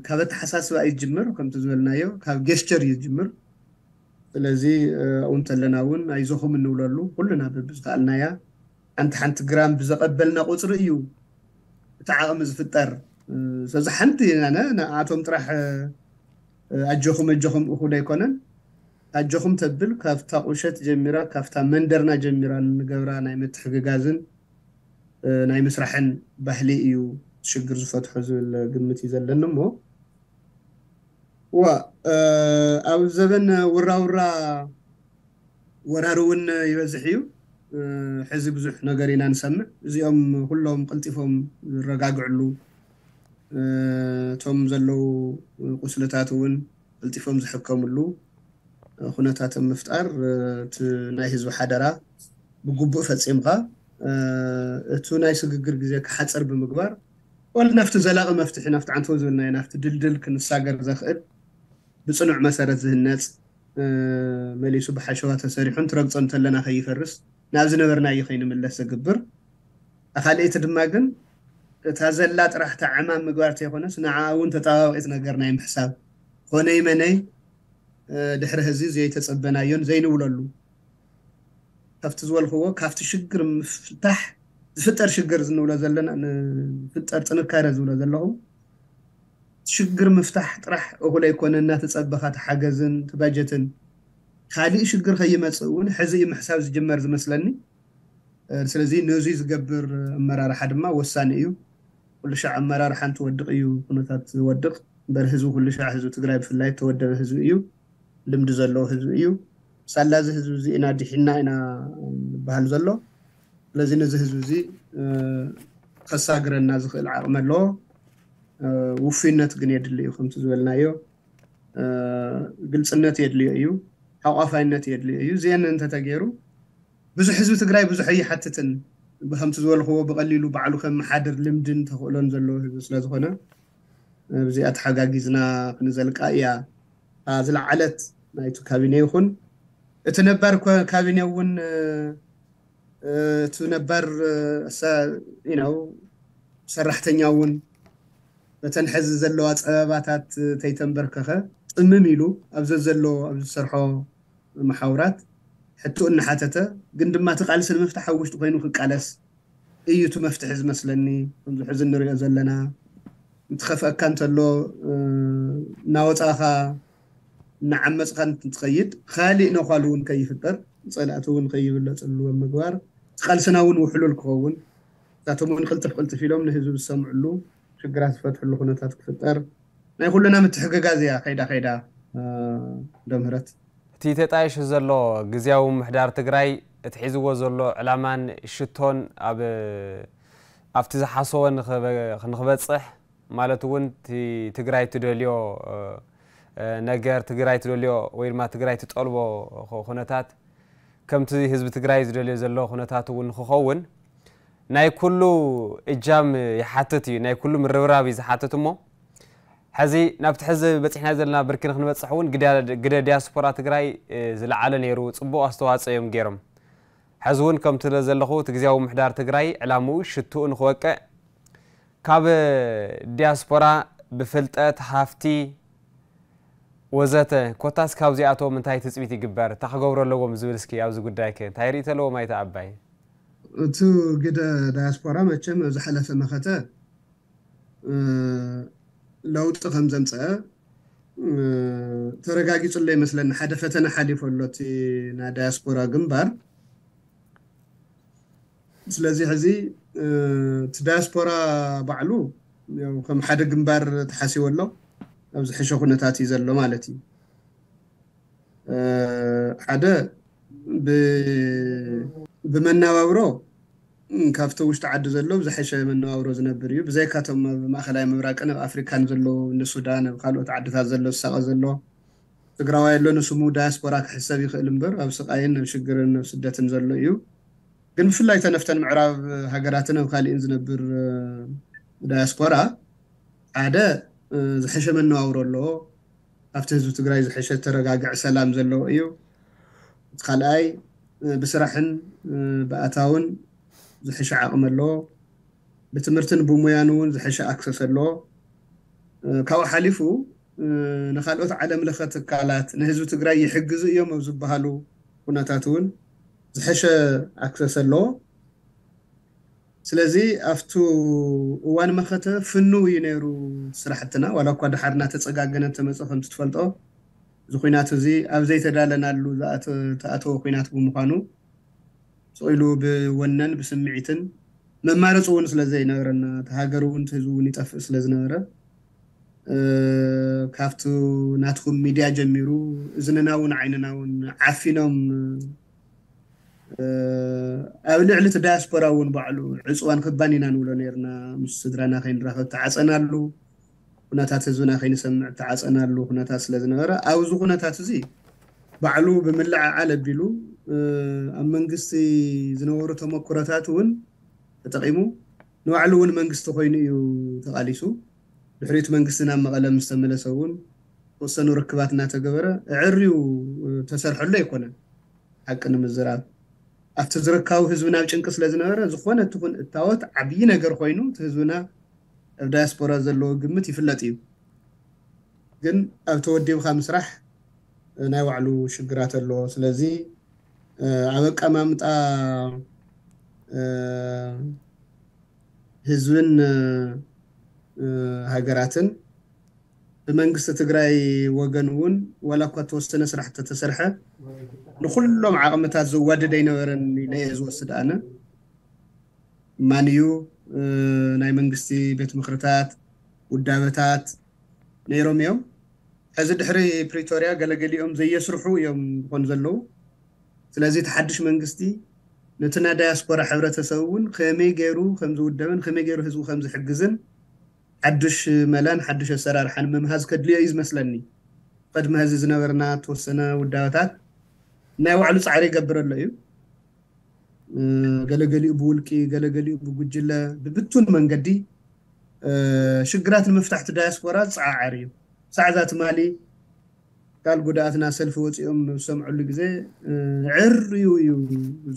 ካብ ኣተሓሳስባ እዩ ዝጅምር፣ ከምቲ ዝበልናዮ ካብ ጌስቸር እዩ ዝጅምር። ስለዚ ኣብኡ እንተለና እውን ኣይዞኹም እንብለሉ ኩልና በብዝከኣልናያ ሓንቲ ሓንቲ ግራም ብዘቐበልና ቁፅሪ እዩ እቲ ዓቕሚ ዝፍጠር። ስለዚ ሓንቲ ንኣቶም ጥራሕ ኣጆኹም ኣጆኹም እኹል ኣይኮነን። ኣጆኹም ተብል ካብታ ቁሸት ጀሚራ ካብታ መንደርና ጀሚራ እንገብራ ናይ ምትሕግጋዝን ናይ ምስራሕን ባህሊ እዩ ሽግር ዝፈትሖ ዝብል ግምት እዩ ዘለኒ። እሞ ዋ ኣብ ዘበን ውራውራ ወራሪ እውን ይበዝሕ እዩ። ሕዚ ብዙሕ ነገር ኢና ንሰምዕ። እዚኦም ኩሎም ቀልጢፎም ዝረጋግዕሉ፣ እቶም ዘለዉ ቁስልታት እውን ቀልጢፎም ዝሕከምሉ ኩነታት ምፍጣር፣ እቲ ናይ ህዝቢ ሓደራ ብግቡእ ፈፂምካ፣ እቱ ናይ ስግግር ግዜ ክሓፀር ብምግባር፣ ወል ናብቲ ዘላቒ መፍትሒ፣ ናብቲ ዓንተው ዝብልናዮ ናብቲ ድልድል ክንሳገር ዘኽእል ብፅኑዕ መሰረት ዝህነፅ፣ መሊሱ ብሓሸዋ ተሰሪሑ እንትረግፆ እንተለና ከይፈርስ፣ ናብ ዝነበርናዮ ከይንምለስ ዘግብር። ኣኻልእቲ ድማ ግን እታ ዘላ ጥራሕ እታ ዕማም ምግባር ተይኮነስ ንዓ እውን ተጣባቢቂት ነገር ናይ ምሕሳብ፣ ኮነይ መነይ ድሕሪ ህዚ ዘይተፀበናዮን ዘይንብለሉ፣ ካብቲ ዝበልክዎ ካብቲ ሽግር ምፍታሕ ዝፍጠር ሽግር ዝንብሎ ዘለና፣ ዝፍጠር ጥንካረ ዝብሎ ዘለኹ ሽግር ምፍታሕ ጥራሕ እኹል ኣይኮነ እናተፀበኻ ተሓገዝን ተባጀትን። ካሊእ ሽግር ከይመፅእ እውን ሕዚ እዩ ምሕሳብ ዝጅመር ዝመስለኒ። ስለዚ ነዙይ ዝገብር ኣመራርሓ ድማ ወሳኒ እዩ። ኩሉ ሻዕ ኣመራርሓ እንትወድቕ እዩ ኩነታት ዝወድቕ እምበር ህዝቢ ኩሉ ሻዕ ህዝቢ ትግራይ ብፍላይ ተወደበ ህዝቢ እዩ። ልምዲ ዘለዎ ህዝቢ እዩ። ሳላ እዚ ህዝቢ እዚ ኢና ዲሒና ኢና ዝበሃል ዘሎ። ስለዚ ነዚ ህዝቢ እዚ ከሳግረና ዝኽእል ዓቕሚ ኣለዎ። ውፉይነት ግን የድሊ እዩ። ከምቲ ዝበልናዮ ግልፅነት የድልዮ እዩ። ሓቋፋይነት የድልዮ እዩ። እዚአን እንተተገይሩ ብዙሕ ህዝቢ ትግራይ ብዙሕ ኣይሓትትን። ብከምቲ ዝበልክዎ ብቐሊሉ ባዕሉ ከመሓድር ልምድን ተኽእሎን ዘለዎ ህዝቢ ስለዝኾነ ብዚኣ ተሓጋጊዝና ክንዘልቃ እያ ዝለዓለት። ናይቲ ካቢኔ ይኹን እቲ ነባር ካቢኔ እውን እቲ ነባር ሰራሕተኛ እውን በተን ሕዚ ዘለዋ ፀበባታት ተይተንበርከኸ ጥምም ኢሉ ኣብ ዘዘሎ ኣብ ዝሰርሖ መሓውራት ሕቶ እናሓተተ ግን ድማ እቲ ቃልሲ ንምፍታሕ ኣብ ውሽጡ ኮይኑ ክቃለስ እዩ እቲ መፍትሒ ዝመስለኒ። ከምዚ ሕዚ እንሪኦ ዘለና እንትኸፍአካ እንተሎ እናወፃእኻ እናዓመፅኻ እንትትኸይድ ካሊእ ነዃል እውን ከይፍጠር ፀላእቲ እውን ከይብለፅሉ ኣብ ምግባር ቃልስና እውን ውሕሉል ክኸውን እታቶም እውን ቅልጥፍ ቅልጥፍ ኢሎም ንህዝቢ ዝሰምዕሉ ሽግራት ዝፈትሕሉ ኩነታት ክፍጠር ናይ ኩልና ምትሕግጋዝ እያ ከይዳ ከይዳ። ዶ ምህረት እቲ ተጣይሹ ዘሎ ግዝያዊ ምሕዳር ትግራይ እቲ ሒዝዎ ዘሎ ዕላማን ሽቶን ኣብ ኣብቲ ዝሓሰቦ ንኽበፅሕ ማለት እውን እቲ ትግራይ ትደልዮ ነገር ትግራይ ትደልዮ ወይ ድማ ትግራይ ትጠልቦ ኩነታት ከምቲ ህዝቢ ትግራይ ዝደልዮ ዘሎ ኩነታት እውን ንክኸውን ናይ ኩሉ እጃም ይሓትት እዩ፣ ናይ ኩሉ ምርብራብ እዩ ዝሓትት። እሞ ሕዚ ናብቲ ሕዚ በፂሕና ዘለና ብርኪ ንክንበፅሕ እውን ግደ ዲያስፖራ ትግራይ ዝለዓለ ነይሩ፣ ፅቡቕ ኣስተዋፅኦ እዮም ገይሮም። ሕዚ እውን ከምቲ ዘለኹ እቲ ግዝያዊ ምሕዳር ትግራይ ዕላምኡ ሽትኡ ንክወቅዕ ካብ ዲያስፖራ ብፍልጠት ሃፍቲ ወዘተ። ኮታስ ካብዚኣቶም እንታይ ትፅቢት ይግበር? እንታይ ክገብሩ ኣለዎም ዝብል እስኪ ኣብዚ ጉዳይ ከ እንታይ ርእይቶ ኣለዎም ኣይተ ኣባይ? እቲ ግደ ዳያስፖራ መቸም ኣብ ዝሓለፈ መኸተ ለውጢ ከም ዘምፀአ ተረጋጊፁ ኣሎ ይመስለኒ። ሓደ ፈተነ ሓሊፎ ኣሎ እቲ ናይ ዳያስፖራ ግንባር። ስለዚ ሕዚ እቲ ዳያስፖራ ባዕሉ ከም ሓደ ግንባር ተሓሲቡ ኣሎ። ኣብ ዝሕሸ ኩነታት እዩ ዘሎ ማለት እዩ። ሓደ ብመነባብሮ ካብቲ ውሽጢ ዓዲ ዘሎ ብዝሐሸ መነባብሮ ዝነብር እዩ። ብዘይካቶም ኣብ ማእኸላይ ምብራቅን ኣብ ኣፍሪካን ዘለዉ፣ ንሱዳን፣ ኣብ ካልኦት ዓድታት ዘሎ ዝሳቐ ዘሎ ትግራዋይ ኣሎ፣ ንስሙ ዳያስፖራ ክሕሰብ ይኽእል እምበር ኣብ ስቓይን ኣብ ሽግርን ኣብ ስደትን ዘሎ እዩ። ግን ብፍላይ ተነፍተን ምዕራብ ሃገራትን ኣብ ካሊእን ዝነብር ዳያስፖራ ሓደ ዝሐሸ መነባብሮ ኣለዎ። ኣብቲ ህዝቢ ትግራይ ዝሐሸ ተረጋግዐ ሰላም ዘለዎ እዩ። እቲ ካልኣይ ብስራሕን ብኣታውን ዝሐሸ ዓቕሚ ኣለዎ። ብትምህርትን ብሙያን እውን ዝሐሸ ኣክሰስ ኣለዎ። ካብኡ ሓሊፉ ንካልኦት ዓለም ለኸ ትካላት ንህዝቢ ትግራይ ይሕግዙ እዮም ኣብ ዝበሃሉ ኩነታት እውን ዝሐሸ ኣክሰስ ኣለዎ። ስለዚ ኣብቱ እዋን መኸተ ፍኑ እዩ ነይሩ ስራሕትና። ዋላ እኳ ድሓር እናተፀጋገነ ተመፀ ከምቲ ትፈልጦ፣ እዚ ኩናት እዚ ኣብ ዘይተዳለናሉ ተኣተወ ኩናት ብምዃኑ ስቕ ኢሉ ብወነን ብስምዒትን መማረፂ እውን ስለ ዘይነበረና፣ እቲ ሃገር እውን እቲ ህዝቢ እውን ይጠፍእ ስለ ዝነበረ ካብቲ ናትኩም ሚድያ ጀሚሩ እዝንና እውን ዓይንና እውን ዓፊኖም ኣብ ልዕሊ እቲ ዳያስፖራ እውን ባዕሉ ዕፅዋን ክባን ኢና ንብሎ ነርና። ምስ ስድራና ከይንራኸብ ተዓፀናሉ፣ ኩነታት ህዝብና ከይንሰምዕ ተዓፀናሉ ኩነታት ስለ ዝነበረ ኣብዚ ኩነታት እዚ ባዕሉ ብምልዕዓል ኣቢሉ ኣብ መንግስቲ ዝነበሩ ተመክሮታት እውን ተጠቒሙ ንባዕሉ እውን መንግስቲ ኮይኑ እዩ ተቓሊሱ። ድሕሪት መንግስቲ ናብ መቐለ ምስ ተመለሰ እውን ተወሰኑ ርክባት እናተገበረ ዕርዩ ተሰርሐሉ ኣይኮነን። ሓቂ ንምዝራብ ኣብቲ ዝርካቡ ህዝብና ኣብ ጭንቂ ስለ ዝነበረ ዝኾነ ትኹን እታወት ዓብዪ ነገር ኮይኑ እቲ ህዝብና ኣብ ዳያስፖራ ዘለዎ ግምት ይፍለጥ እዩ። ግን ኣብ ተወዲብካ ምስራሕ ናይ ባዕሉ ሽግራት ኣለዎ። ስለዚ ኣብ ኣቀማምጣ ህዝብን ሃገራትን ብመንግስቲ ትግራይ ወገን እውን ዋላ እኳ ተወሰነ ስራሕ ተተሰርሐ ንኩሎም ዓቕምታት ዘዋድድ ኣይነበረን ኢለ እየ ዝወስድ ኣነ። ማን እዩ ናይ መንግስቲ ቤት ምክርታት ውዳበታት ነይሮም እዮም። ሕዚ ድሕሪ ፕሪቶርያ ገለገሊኦም ዘየስርሑ እዮም ዝኾኑ ዘለዉ። ስለዚ እቲ ሓድሽ መንግስቲ ነቲ ናይ ዳያስፖራ ሕብረተሰብ እውን ከመይ ገይሩ ከም ዝውደብን ከመይ ገይሩ ህዝቡ ከም ዝሕግዝን ሓዱሽ መላን ሓዱሽ ኣሰራርሓን ምምሃዝ ከድልዮ እዩ ዝመስለኒ። ቅድሚ ሕዚ ዝነበርና ተወሰነ ውዳበታት ናይ ባዕሉ ፃዕሪ ይገብር ኣሎ እዩ። ገለገሊኡ ብውልቂ፣ ገለገሊኡ ብጉጅለ፣ ብብቱን መንገዲ ሽግራት ንምፍታሕ እቲ ዳያስፖራ ዝፀዓዓር እዩ። ሳዕዛ ትማሊ ካል ጉዳኣትና ሰልፊ ወፂኦም ዝሰምዐሉ ግዜ ዕርዩ እዩ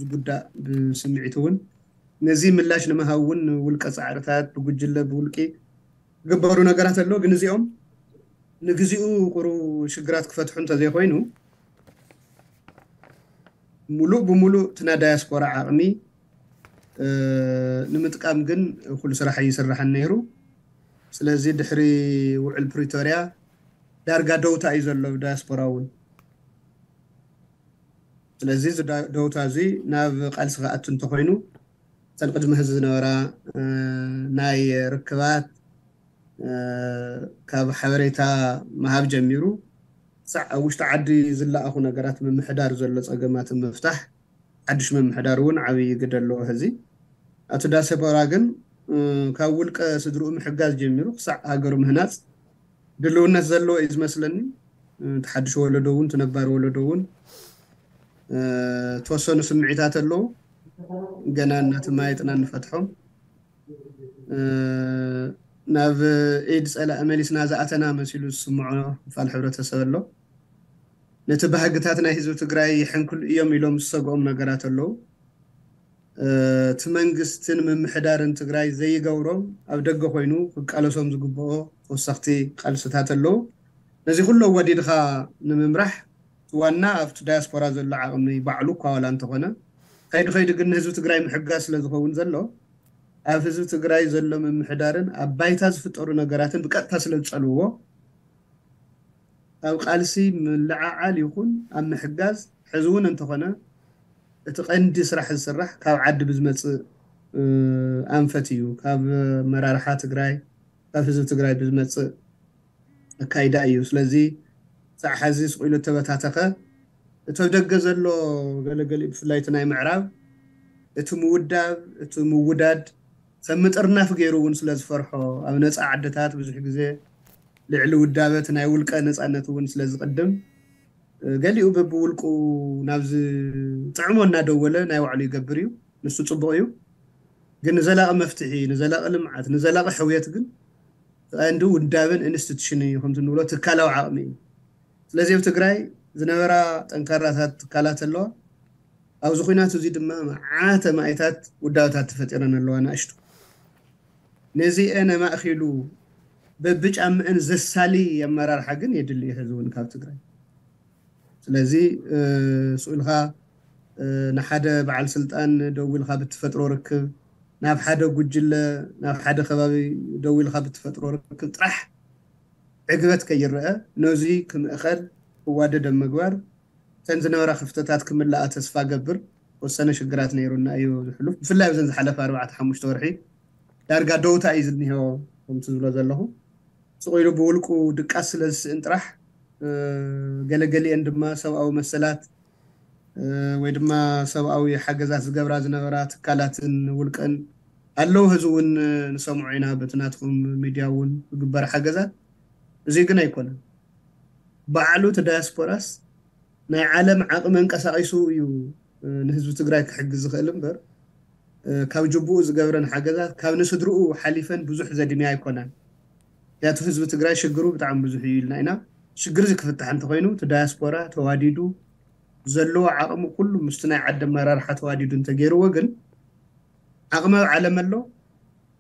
ዝጉዳእ ብስምዒት እውን። ነዚ ምላሽ ንምሃብ እውን ውልቀ ፃዕርታት ብጉጅለ ብውልቂ ዝግበሩ ነገራት ኣሎ። ግን እዚኦም ንግዚኡ ቁሩ ሽግራት ክፈትሑ እንተዘይኮይኑ ሙሉእ ብሙሉእ እቲ ናይ ዳያስፖራ ዓቕሚ ንምጥቃም ግን ኩሉ ስራሕ ይስራሕን ነይሩ። ስለዚ ድሕሪ ውዕል ፕሪቶርያ ዳርጋ ደውታ እዩ ዘሎ ብዳያስፖራ እውን። ስለዚ እዚ ደውታ እዚ ናብ ቃልሲ ክኣቱ እንተኮይኑ እተን ቅድሚ ሕዚ ዝነበራ ናይ ርክባት ካብ ሓበሬታ ምሃብ ጀሚሩ ሳዕ ኣብ ውሽጢ ዓዲ ዝለኣኹ ነገራት ምምሕዳር ዘሎ ፀገማትን ምፍታሕ ሓድሽ ምምሕዳር እውን ዓብዪ ግደ ኣለዎ። ሕዚ ኣቶ ዳሰቦራ ግን ካብ ውልቀ ስድርኡ ምሕጋዝ ጀሚሩ ክሳዕ ሃገሩ ምህናፅ ድልውነት ዘለዎ እዩ ዝመስለኒ። እቲ ሓድሽ ወለዶ እውን እቲ ነባር ወለዶ እውን ተወሰኑ ስምዒታት ኣለዉ። ገና እናተማየጥና ንፈትሖም። ናብ ኢድ ፀላኢ መሊስና ዝኣተና መሲሉ ዝስምዖ ክፋል ሕብረተሰብ ኣሎ። ነቲ ባህግታት ናይ ህዝቢ ትግራይ ይሕንክሉ እዮም ኢሎም ዝሰግኦም ነገራት ኣለዉ። እቲ መንግስትን ምምሕዳርን ትግራይ ዘይገብሮም ኣብ ደገ ኮይኑ ክቃለሶም ዝግብኦ ተወሰኽቲ ቃልስታት ኣለዉ። ነዚ ኩሉ ኣወዲድኻ ንምምራሕ ዋና ኣብቲ ዳያስፖራ ዘሎ ዓቕሚ ባዕሉ እኳ ዋላ እንተኾነ፣ ከይዲ ከይዲ ግን ንህዝቢ ትግራይ ምሕጋዝ ስለ ዝኸውን ዘሎ፣ ኣብ ህዝቢ ትግራይ ዘሎ ምምሕዳርን ኣብ ባይታ ዝፍጠሩ ነገራትን ብቀጥታ ስለ ዝጸልውዎ፣ ኣብ ቃልሲ ምልዓዓል ይኹን ኣብ ምሕጋዝ፣ ሕዚ እውን እንተኾነ እቲ ቀንዲ ስራሕ ዝስራሕ ካብ ዓዲ ብዝመፅእ ኣንፈት እዩ። ካብ መራርሓ ትግራይ፣ ካብ ህዝቢ ትግራይ ብዝመፅእ ኣካይዳ እዩ። ስለዚ ሳዕ ሓዚ ስቕ ኢሉ እተበታተኸ፣ እቲ ኣብ ደገ ዘሎ ገለገሊኡ፣ ብፍላይ እቲ ናይ ምዕራብ፣ እቲ ምውዳብ፣ እቲ ምውዳድ ከም ምጥርናፍ ገይሩ እውን ስለ ዝፈርሖ፣ ኣብ ነፃ ዓድታት ብዙሕ ግዜ ልዕሊ ውዳበ እቲ ናይ ውልቀ ነፃነት እውን ስለ ዝቕድም፣ ገሊኡ በብውልቁ ናብዚ ጥዕሞ እናደወለ ናይ ባዕሉ ይገብር እዩ። ንሱ ፅቡቕ እዩ። ግን ንዘላቒ መፍትሒ፣ ንዘላቒ ልምዓት፣ ንዘላቒ ሕውየት ግን ቀንዲ ውዳበን ኢንስቲቱሽን እዩ፣ ከምቲ ንብሎ ትካላዊ ዓቕሚ እዩ። ስለዚ ኣብ ትግራይ ዝነበራ ጠንካራታት ትካላት ኣለዋ። ኣብዚ ኩናት እዚ ድማ መዓተ ማይታት ውዳበታት ተፈጢረን ኣለዋ፣ ንኣሽቱ። ነዚአን ኣማእኪሉ በብጫምአን ዘሳሊ ኣመራርሓ ግን የድሊ እዩ ሕዚ እውን ካብ ትግራይ። ስለዚ ስኡልካ ንሓደ በዓል ስልጣን ደዊልካ ብትፈጥሮ ርክብ፣ ናብ ሓደ ጉጅለ፣ ናብ ሓደ ከባቢ ደዊልካ ብትፈጥሮ ርክብ ጥራሕ ዕግበት ከይረአ፣ ነዚ ክምእኸል ክዋደድ ኣብ ምግባር፣ እተን ዝነበራ ክፍተታት ክምላኣ ተስፋ ገብር። ወሰነ ሽግራት ነይሩና እዩ ዝሕሉፍ፣ ብፍላይ ኣብዘን ዝሓለፈ ኣርባዕተ ሓሙሽተ ወርሒ ዳርጋ ደውታ እዩ ዝኒሆ። ከምቲ ዝብሎ ዘለኹ፣ ስቕ ኢሉ ብውልቁ ድቃስ ስለ ዝስእን ጥራሕ፣ ገለገሊአን ድማ ሰብኣዊ መሰላት ወይ ድማ ሰብኣዊ ሓገዛት ዝገብራ ዝነበራ ትካላትን ውልቀን ኣለዉ። ሕዚ እውን ንሰምዖ ኢና፣ በቲ ናትኩም ሚድያ እውን ዝግበር ሓገዛት። እዚ ግን ኣይኮነን። ባዕሉ እቲ ዳያስፖራስ ናይ ዓለም ዓቕሚ ኣንቀሳቒሱ እዩ ንህዝቢ ትግራይ ክሕግዝ ዝኽእል እምበር፣ ካብ ጅቡኡ ዝገብረን ሓገዛት ካብ ንስድርኡ ሓሊፈን ብዙሕ ዘድምያ ኣይኮናን። ምክንያቱ ህዝቢ ትግራይ ሽግሩ ብጣዕሚ ብዙሕ እዩ ኢልና ኢና። ሽግር እዚ ክፍታሕ እንተኾይኑ፣ እቲ ዳያስፖራ ተዋዲዱ፣ ዘለዎ ዓቕሚ ኩሉ ምስቲ ናይ ዓዲ ኣመራርሓ ተዋዲዱ እንተገይርዎ ግን፣ ዓቕሚ ኣብ ዓለም ኣሎ።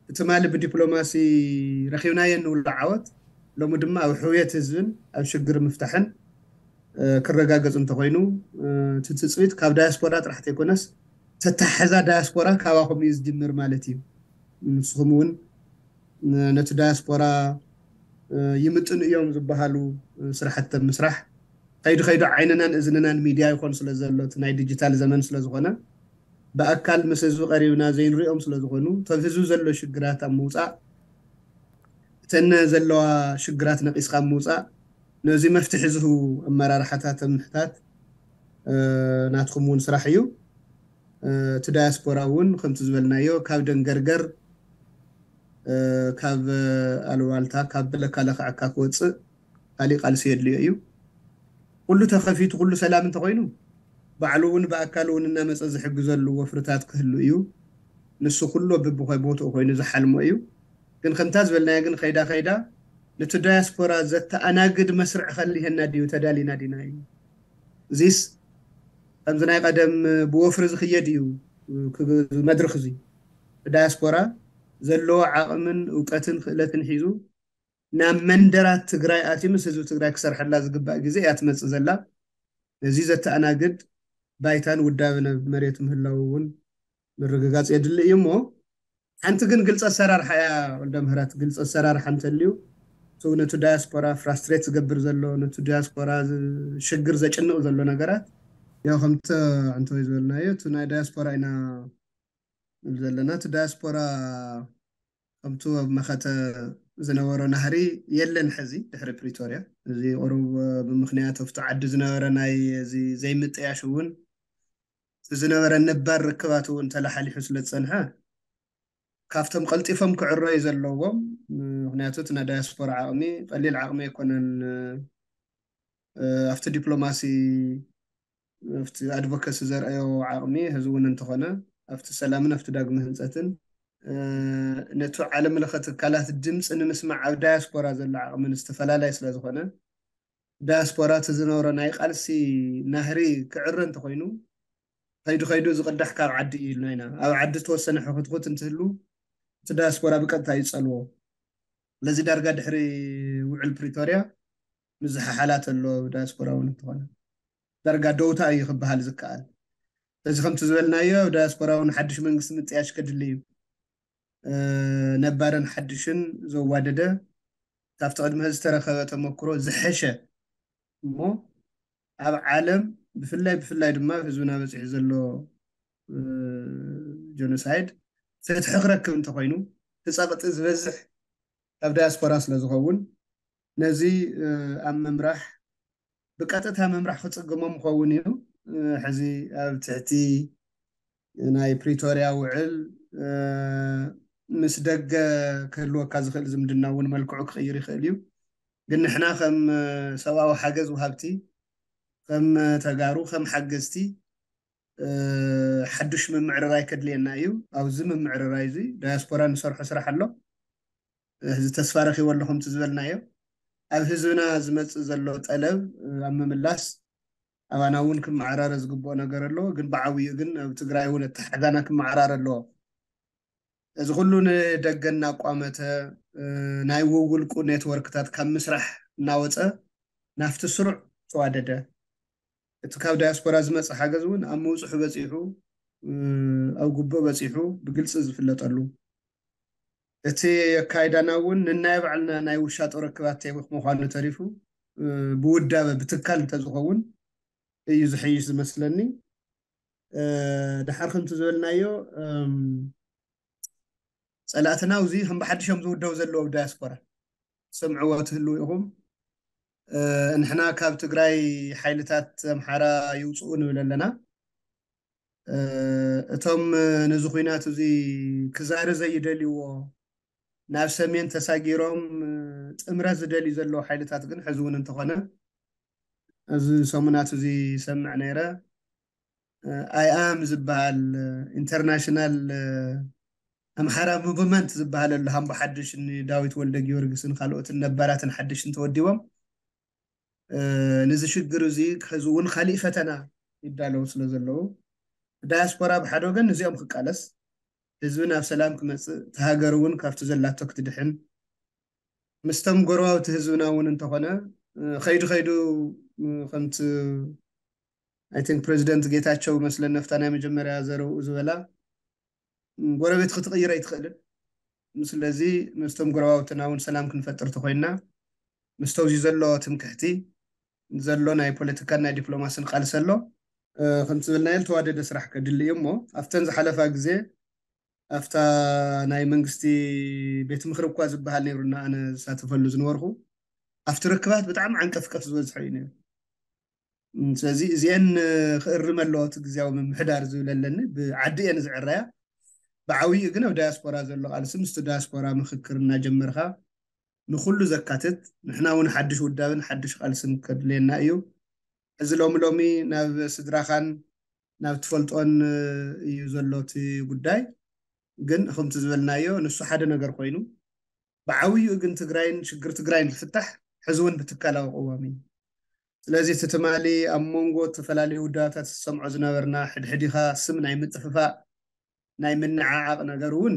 ትማሊ ብዲፕሎማሲ ረኺብናዮ እንብሎ ዓወት፣ ሎሚ ድማ ኣብ ሕውየት ህዝብን ኣብ ሽግር ምፍታሕን ክረጋገፅ እንተኾይኑ፣ እቲ ትፅቢት ካብ ዳያስፖራ ጥራሕ ዘይኮነስ፣ ተታሓዛ ዳያስፖራ ካባኹም እዩ ዝጅምር ማለት እዩ። ንስኹም እውን ነቲ ዳያስፖራ ይምጥኑ እዮም ዝበሃሉ ስራሕቲ ምስራሕ፣ ከይዱ ከይዱ ዓይንናን እዝንናን ሚድያ ይኾን ስለ ዘሎ፣ እቲ ናይ ዲጂታል ዘመን ስለ ዝኾነ፣ ብኣካል ምስ ህዝቢ ቀሪብና ዘይንሪኦም ስለ ዝኾኑ፣ እቶም ህዝቢ ዘሎ ሽግራት ኣብ ምውፃእ፣ እተን ዘለዋ ሽግራት ነቒስካ ኣብ ምውፃእ፣ ነዚ መፍትሒ ዝህቡ ኣመራርሓታት ኣብ ምሕታት ናትኩም እውን ስራሕ እዩ። እቲ ዳያስፖራ እውን ከምቲ ዝበልናዮ ካብ ደንገርገር፣ ካብ ኣሉባልታ፣ ካብ ለካለካ ዕካ ክወፅእ ካሊእ ቃልሲ የድልዮ እዩ። ኩሉ ተኸፊቱ፣ ኩሉ ሰላም እንተኾይኑ፣ ባዕሉ እውን ብኣካል እውን እናመፀ ዝሕግዘሉ ወፍርታት ክህሉ እዩ። ንሱ ኩሉ በብቦትኡ ኮይኑ ዝሓልሞ እዩ። ግን ከምታ ዝበልናዮ ግን ከይዳ ከይዳ ነቲ ዳያስፖራ ዘተኣናግድ መስርዕ ከሊሀና ድዩ፣ ተዳሊና ዲና እዩ። እዚስ ከምዚ ናይ ቀደም ብወፍሪ ዝኽየድ እዩ። ክብ-፣ መድረኽ እዚ ዳያስፖራ ዘለዎ ዓቕምን እውቀትን ክእለትን ሒዙ ናብ መንደራት ትግራይ ኣትዩ ምስ ህዝቢ ትግራይ ክሰርሐላ ዝግባእ ግዜ እያ ትመፅእ ዘላ። ነዚ ዘተኣናግድ ባይታን ውዳበን ኣብ መሬት ምህላው እውን ምርግጋፅ የድሊ እዩ። እሞ ሓንቲ ግን ግልፂ ኣሰራርሓ እያ፣ ወልደ ምህረት። ግልፂ ኣሰራርሓ እንተልዩ፣ እቲ ነቲ ዳያስፖራ ፍራስትሬት ዝገብር ዘሎ፣ ነቲ ዳያስፖራ ዝ-፣ ሽግር ዘጭንቕ ዘሎ ነገራት፣ ያው ከምቲ ኣንቶይ ዝበልናዮ፣ እቲ ናይ ዳያስፖራ ኢና ንብል ዘለና። እቲ ዳያስፖራ ከምቱ ኣብ መኸተ ዝነበሮ ናህሪ የለን። ሕዚ ድሕሪ ፕሪቶርያ፣ እዚ ቁሩብ ብምኽንያት ኣብቲ ዓዲ ዝነበረ ናይ እዚ ዘይምጥያሽ እውን፣ እቲ ዝነበረ ነባር ርክባት እውን ተላሓሊሑ ስለ ዝጸንሐ፣ ካብቶም ቀልጢፎም ክዕረዩ ዘለዎም፣ ምኽንያቱ እቲ ናይ ዳያስፖራ ዓቕሚ ቀሊል ዓቕሚ ኣይኮነን። እ፣ ኣብቲ ዲፕሎማሲ፣ ኣብቲ ኣድቮካሲ ዘርኣዮ ዓቕሚ፣ ሕዚ እውን እንተኾነ ኣብቲ ሰላምን ኣብቲ ዳግመ ህንጸትን፣ እ፣ ነቲ ዓለም ለኸ ትካላት ድምፂ ንምስማዕ ኣብ ዳያስፖራ ዘሎ ዓቕሚ ዝተፈላለየ ስለ ዝኾነ፣ ዳያስፖራ እቲ ዝነበሮ ናይ ቃልሲ ናህሪ ክዕረ እንተኾይኑ፣ ከይዱ ከይዱ ዝቕዳሕ ካብ ዓዲ እዩ ኢልና ኢና። ኣብ ዓዲ ዝተወሰነ ሕኹትኩት እንትህሉ፣ እቲ ዳያስፖራ ብቀጥታ እዩ ዝጸልዎ። ስለዚ ዳርጋ ድሕሪ ውዕል ፕሪቶርያ፣ ምዝሓሓላት ኣሎ። ዳያስፖራ እውን እንተኾነ ዳርጋ ደውታ እዩ ክበሃል ዝከኣል። እዚ ከምቲ ዝበልናዮ ዳያስፖራ እውን ሓድሽ መንግስቲ ምጥያሽ ከድሊ እዩ። ነባርን ሓድሽን ዘዋደደ ካብቲ ቅድሚ ዝተረኸበ ተመክሮ ዝሐሸ እሞ ኣብ ዓለም ብፍላይ ብፍላይ ድማ ህዝብና በፂሑ ዘሎ ጀኖሳይድ ፍትሒ ክረክብ እንተኮይኑ እቲ ፀቕጢ ዝበዝሕ ካብ ዳያስፖራ ስለዝኸውን ነዚ ኣብ ምምራሕ ብቀጥታ ምምራሕ ክፅገሞም ይኸውን እዩ። ሕዚ ኣብ ትሕቲ ናይ ፕሪቶርያ ውዕል ምስ ደገ ክህልወካ ዝኽእል ዝምድና እውን መልክዑ ክቕይር ይኽእል እዩ። ግን ንሕና ከም ሰብኣዊ ሓገዝ ውሃብቲ፣ ከም ተጋሩ፣ ከም ሓገዝቲ ሓዱሽ ምምዕርራይ ከድልየና እዩ። ኣብዚ ምምዕርራይ እዚ ዳያስፖራ ንሰርሖ ስራሕ ኣሎ። እዚ ተስፋ ረኺቦ ኣለኹም እቲ ዝበልናዮ ኣብ ህዝብና ዝመፅእ ዘሎ ጠለብ ኣብ ምምላስ ኣባና እውን ክመዓራረ ዝግብኦ ነገር ኣሎ። ግን ብዓብዩ ግን ኣብ ትግራይ እውን ኣተሓሕዛና ክመዓራረ ኣለዎ። እዚ ኩሉ ንደገ እናቋመተ ናይ ውውልቁ ኔትወርክታት ካብ ምስራሕ እናወፀ ናፍቲ ስሩዕ ተዋደደ። እቲ ካብ ዳያስፖራ ዝመፀ ሓገዝ እውን ኣብ ምውፅሑ በፂሑ ኣብ ጉቡእ በፂሑ ብግልፂ ዝፍለጠሉ እቲ ኣካይዳና እውን ንናይ ባዕልና ናይ ውሻጦ ርክባት ምዃኑ ተሪፉ ብውዳበ ብትካል እንተዝኸውን እዩ ዝሐይሽ ዝመስለኒ። ድሓር ከምቲ ዝበልናዮ ፀላእትና እዚ ከም ብሓድሾም ዝውደቡ ዘለዉ ዳያስፖራ ሰምዕዎ ትህልው ኢኹም። ንሕና ካብ ትግራይ ሓይልታት ኣምሓራ ይውፅኡ ንብል ኣለና። እቶም ነዚ ኩናት እዚ ክዛሪ ዘይደልይዎ ናብ ሰሜን ተሳጊሮም ጥምረት ዝደልዩ ዘለዉ ሓይልታት ግን ሕዚ እውን እንተኾነ ኣብዚ ሰሙናት እዚ ይሰምዕ ነይረ። ኣይ ኣም ዝበሃል ኢንተርናሽናል ኣምሓራ ሙቭመንት ዝበሃል ኣሎ ሃምቦ ሓድሽ ንዳዊት ወልደ ጊዮርጊስን ካልኦትን ነባራትን ሓድሽን ተወዲቦም ነዚ ሽግር እዚ ከዚ እውን ካሊእ ፈተና ይዳለዉ ስለ ዘለዉ ዳያስፖራ ብሓደ ወገን ነዚኦም ክቃለስ ህዝቢ ናብ ሰላም ክመፅእ እቲ ሃገር እውን ካብቲ ዘላቶ ክትድሕን ምስቶም ጎረባብቲ ህዝብና እውን እንተኾነ ከይዱ ከይዱ ከምቲ ኣይ ቲንክ ፕሬዚደንት ጌታቸው መስለን ነፍታ ናይ መጀመርያ ዘረብኡ ዝበላ ጎረቤት ክትቕይር ኣይትኽእልን። ስለዚ ምስቶም ጎረባብትና እውን ሰላም ክንፈጥር ተኮይንና ምስቶም እዚ ዘሎ ትምክሕቲ ዘሎ ናይ ፖለቲካን ናይ ዲፕሎማስን ቃልሲ ኣሎ። ከምቲ ዝበልናዮ ዝተዋደደ ስራሕ ከድሊ እዩ እሞ ኣብተን ዝሓለፋ ግዜ ኣብታ ናይ መንግስቲ ቤት ምክሪ እኳ ዝበሃል ነይሩና ኣነ ዝሳተፈሉ ዝነበርኩ ኣብቲ ርክባት ብጣዕሚ ዓንቀፍቀፍ ዝበዝሖ እዩ ነይሩ። ስለዚ እዚአን ክእርም ኣለዎ እቲ ግዜያዊ ምምሕዳር ዝብል ኣለኒ። ብዓዲ እየን ዝዕረያ። ብዓብይኡ ግን ኣብ ዳያስፖራ ዘሎ ቃልሲ ምስቲ ዳያስፖራ ምክክር እናጀመርካ ንኩሉ ዘካትት ንሕና እውን ሓድሽ ውዳብን ሓድሽ ቃልስን ከድልየና እዩ። እዚ ሎሚ ሎሚ ናብ ስድራኻን ናብ ትፈልጦን እዩ ዘሎ እቲ ጉዳይ። ግን ከምቲ ዝበልናዮ ንሱ ሓደ ነገር ኮይኑ ብዓብይኡ ግን ትግራይን ሽግር ትግራይን ዝፍታሕ ሕዚ እውን ብትካላዊ ቅዋም እዩ። ስለዚ እቲ ትማሊ ኣብ መንጎ ዝተፈላለዩ ውዳባታት ዝሰምዖ ዝነበርና ሕድሕዲኻ ስም ናይ ምጥፍፋእ ናይ ምንዓዓቕ ነገር እውን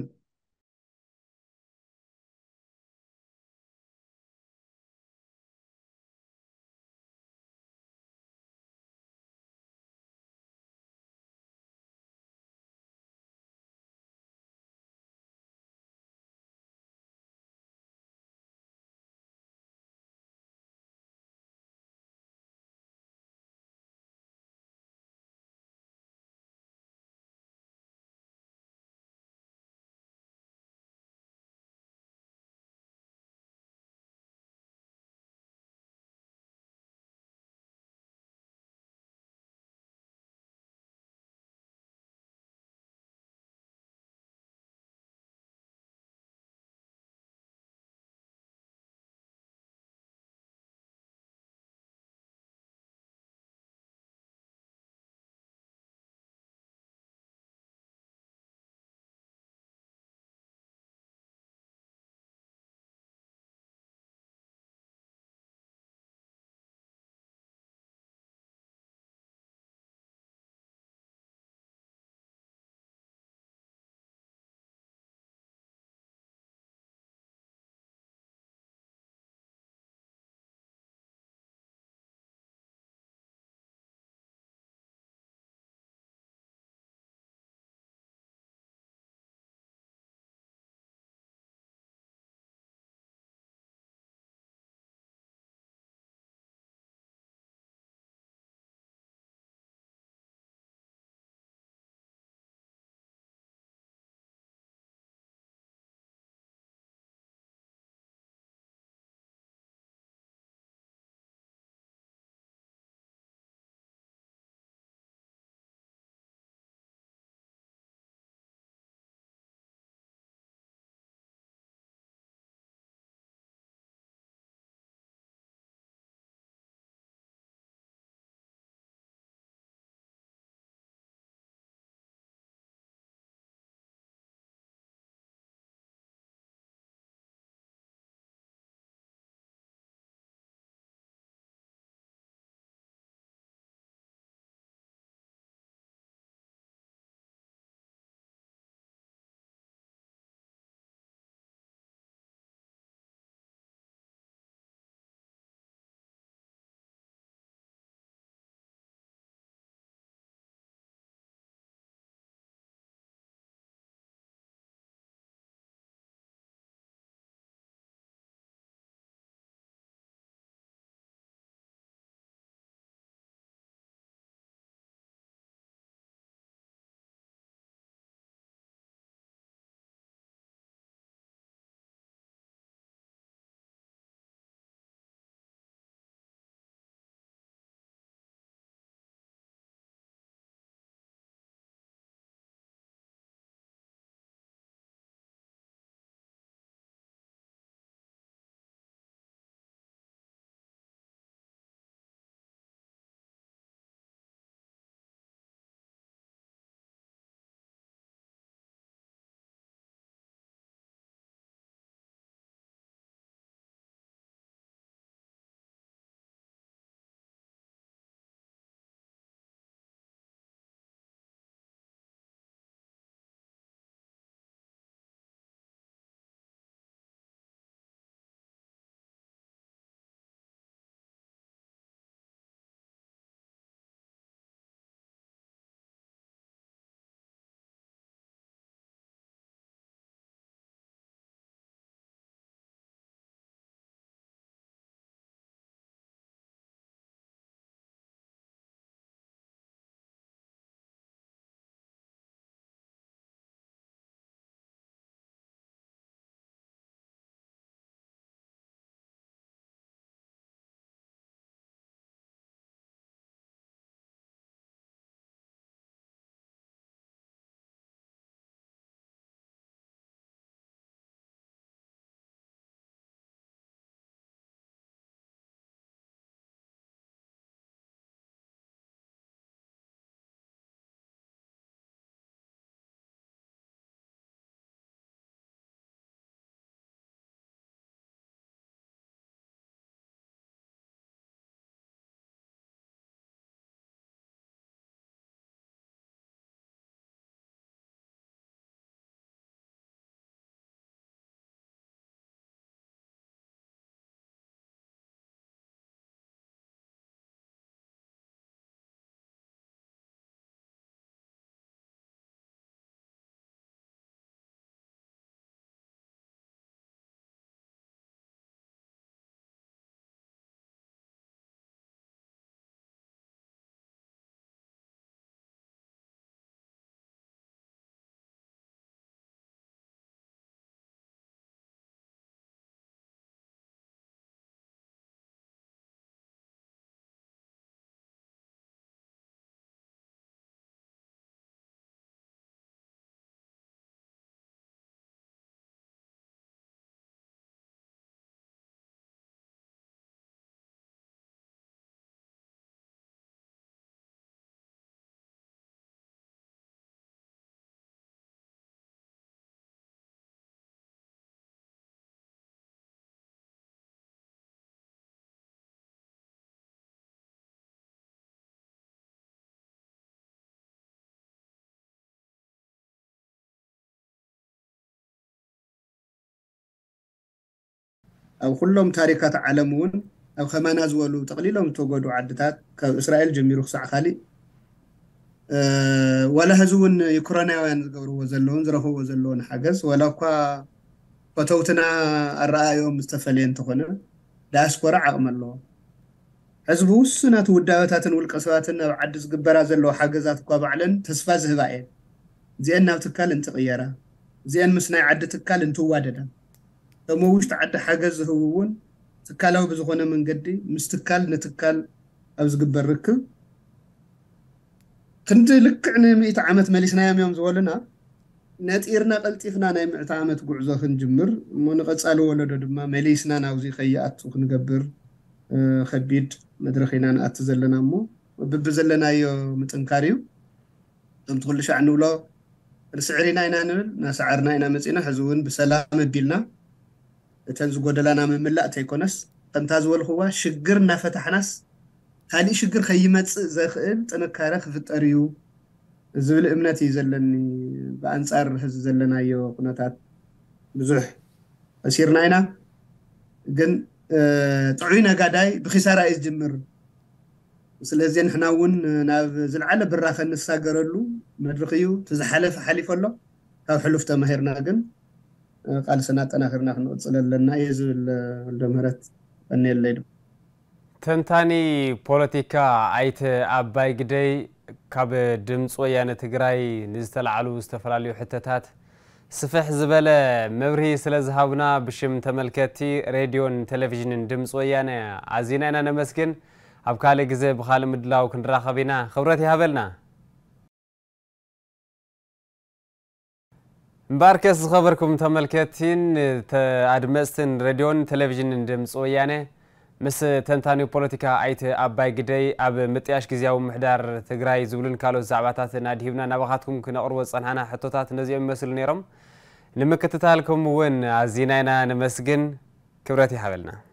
ኣብ ኩሎም ታሪካት ዓለም እውን ኣብ ከማና ዝበሉ ጠቕሊሎም ዝተጎዱ ዓድታት ካብ እስራኤል ጀሚሩ ክሳዕ ካሊእ ዋላ ሕዚ እውን ዩክራናውያን ዝገብርዎ ዘለውን ዝረኽብዎ ዘለውን ሓገዝ ዋላ እኳ ፈተውትና ኣረኣዮም ዝተፈለየ እንተኾነ ዳያስፖራ ዓቕሚ ኣለዎ። ሕዚ ብውሱናት ውዳበታትን ውልቀ ሰባትን ናብ ዓዲ ዝግበራ ዘለዋ ሓገዛት እኳ ባዕለን ተስፋ ዝህባ እየን። እዚአን ናብ ትካል እንትቕየራ፣ እዚአን ምስ ናይ ዓዲ ትካል እንትዋደዳ፣ እቶም ኣብ ውሽጢ ዓዲ ሓገዝ ዝህቡ እውን ትካላዊ ብዝኾነ መንገዲ ምስ ትካል ንትካል ኣብ ዝግበር ርክብ ክንዲ ልክዕ ንምእቲ ዓመት መሊስናዮም እዮም ዝበሉና። ነጢርና ቀልጢፍና ናይ ምዕተ ዓመት ጉዕዞ ክንጅምር እሞ ንቐፃሊ ወለዶ ድማ መሊስና ናብዚ ከይኣቱ ክንገብር ከቢድ መድረኽ ኢና ንኣቲ ዘለና እሞ ብብዘለናዮ ምጥንካር እዩ። ከምቲ ኩሉ ሻዕ ንብሎ ክንስዕር ኢና ኢና ንብል እናሰዓርና ኢና መፂና። ሕዚ እውን ብሰላም ኣቢልና እተን ዝጎደላና ምምላእ ተይኮነስ ከምታ ዝበልክዋ ሽግር እናፈታሕናስ ካሊእ ሽግር ከይመፅእ ዘኽእል ጥንካረ ክፍጠር እዩ ዝብል እምነት እዩ ዘለኒ። ብኣንፃር ሕዚ ዘለናዮ ኩነታት ብዙሕ ከሲርና ኢና፣ ግን ጥዑይ ነጋዳይ ብኪሳራ እዩ ዝጅምር። ስለዚ ንሕና እውን ናብ ዝለዓለ ብራኸ እንሳገረሉ መድረኽ እዩ። እቲ ዝሓለፈ ሓሊፉ ኣሎ። ካብ ሕሉፍ ተማሂርና ግን ቃልስና ኣጠናኺርና ክንቕፅል ኣለና እየ ዝብል። ወልደ ምህረት ቀኒየለይ። ተንታኒ ፖለቲካ ኣይተ ኣባይ ግደይ ካብ ድምፂ ወያነ ትግራይ ንዝተላዕሉ ዝተፈላለዩ ሕቶታት ስፍሕ ዝበለ መብርሂ ስለ ዝሃቡና ብሽም ተመልከትቲ ሬድዮን ቴሌቪዥንን ድምፂ ወያነ ኣዚና ኢና ነመስግን። ኣብ ካልእ ግዜ ብኻልእ ምድላው ክንራኸብ ኢና። ክብረት ይሃበልና። እምበኣርከስ ዝኸበርኩም ተመልከትቲን ኣድመፅትን ሬድዮን ቴሌቪዥንን ድምፂ ወያነ ምስ ተንታኒ ፖለቲካ ኣይተ ኣባይ ግደይ ኣብ ምጥያሽ ግዜያዊ ምሕዳር ትግራይ ዝብሉን ካልኦት ዛዕባታትን ኣድሂብና ናባኻትኩም ክነቕርቦ ዝፀንሓና ሕቶታት ነዚኦም ይመስሉ ነይሮም። ንምክትታልኩም እውን ኣዚና ኢና ነመስግን። ክብረት ይሃበልና።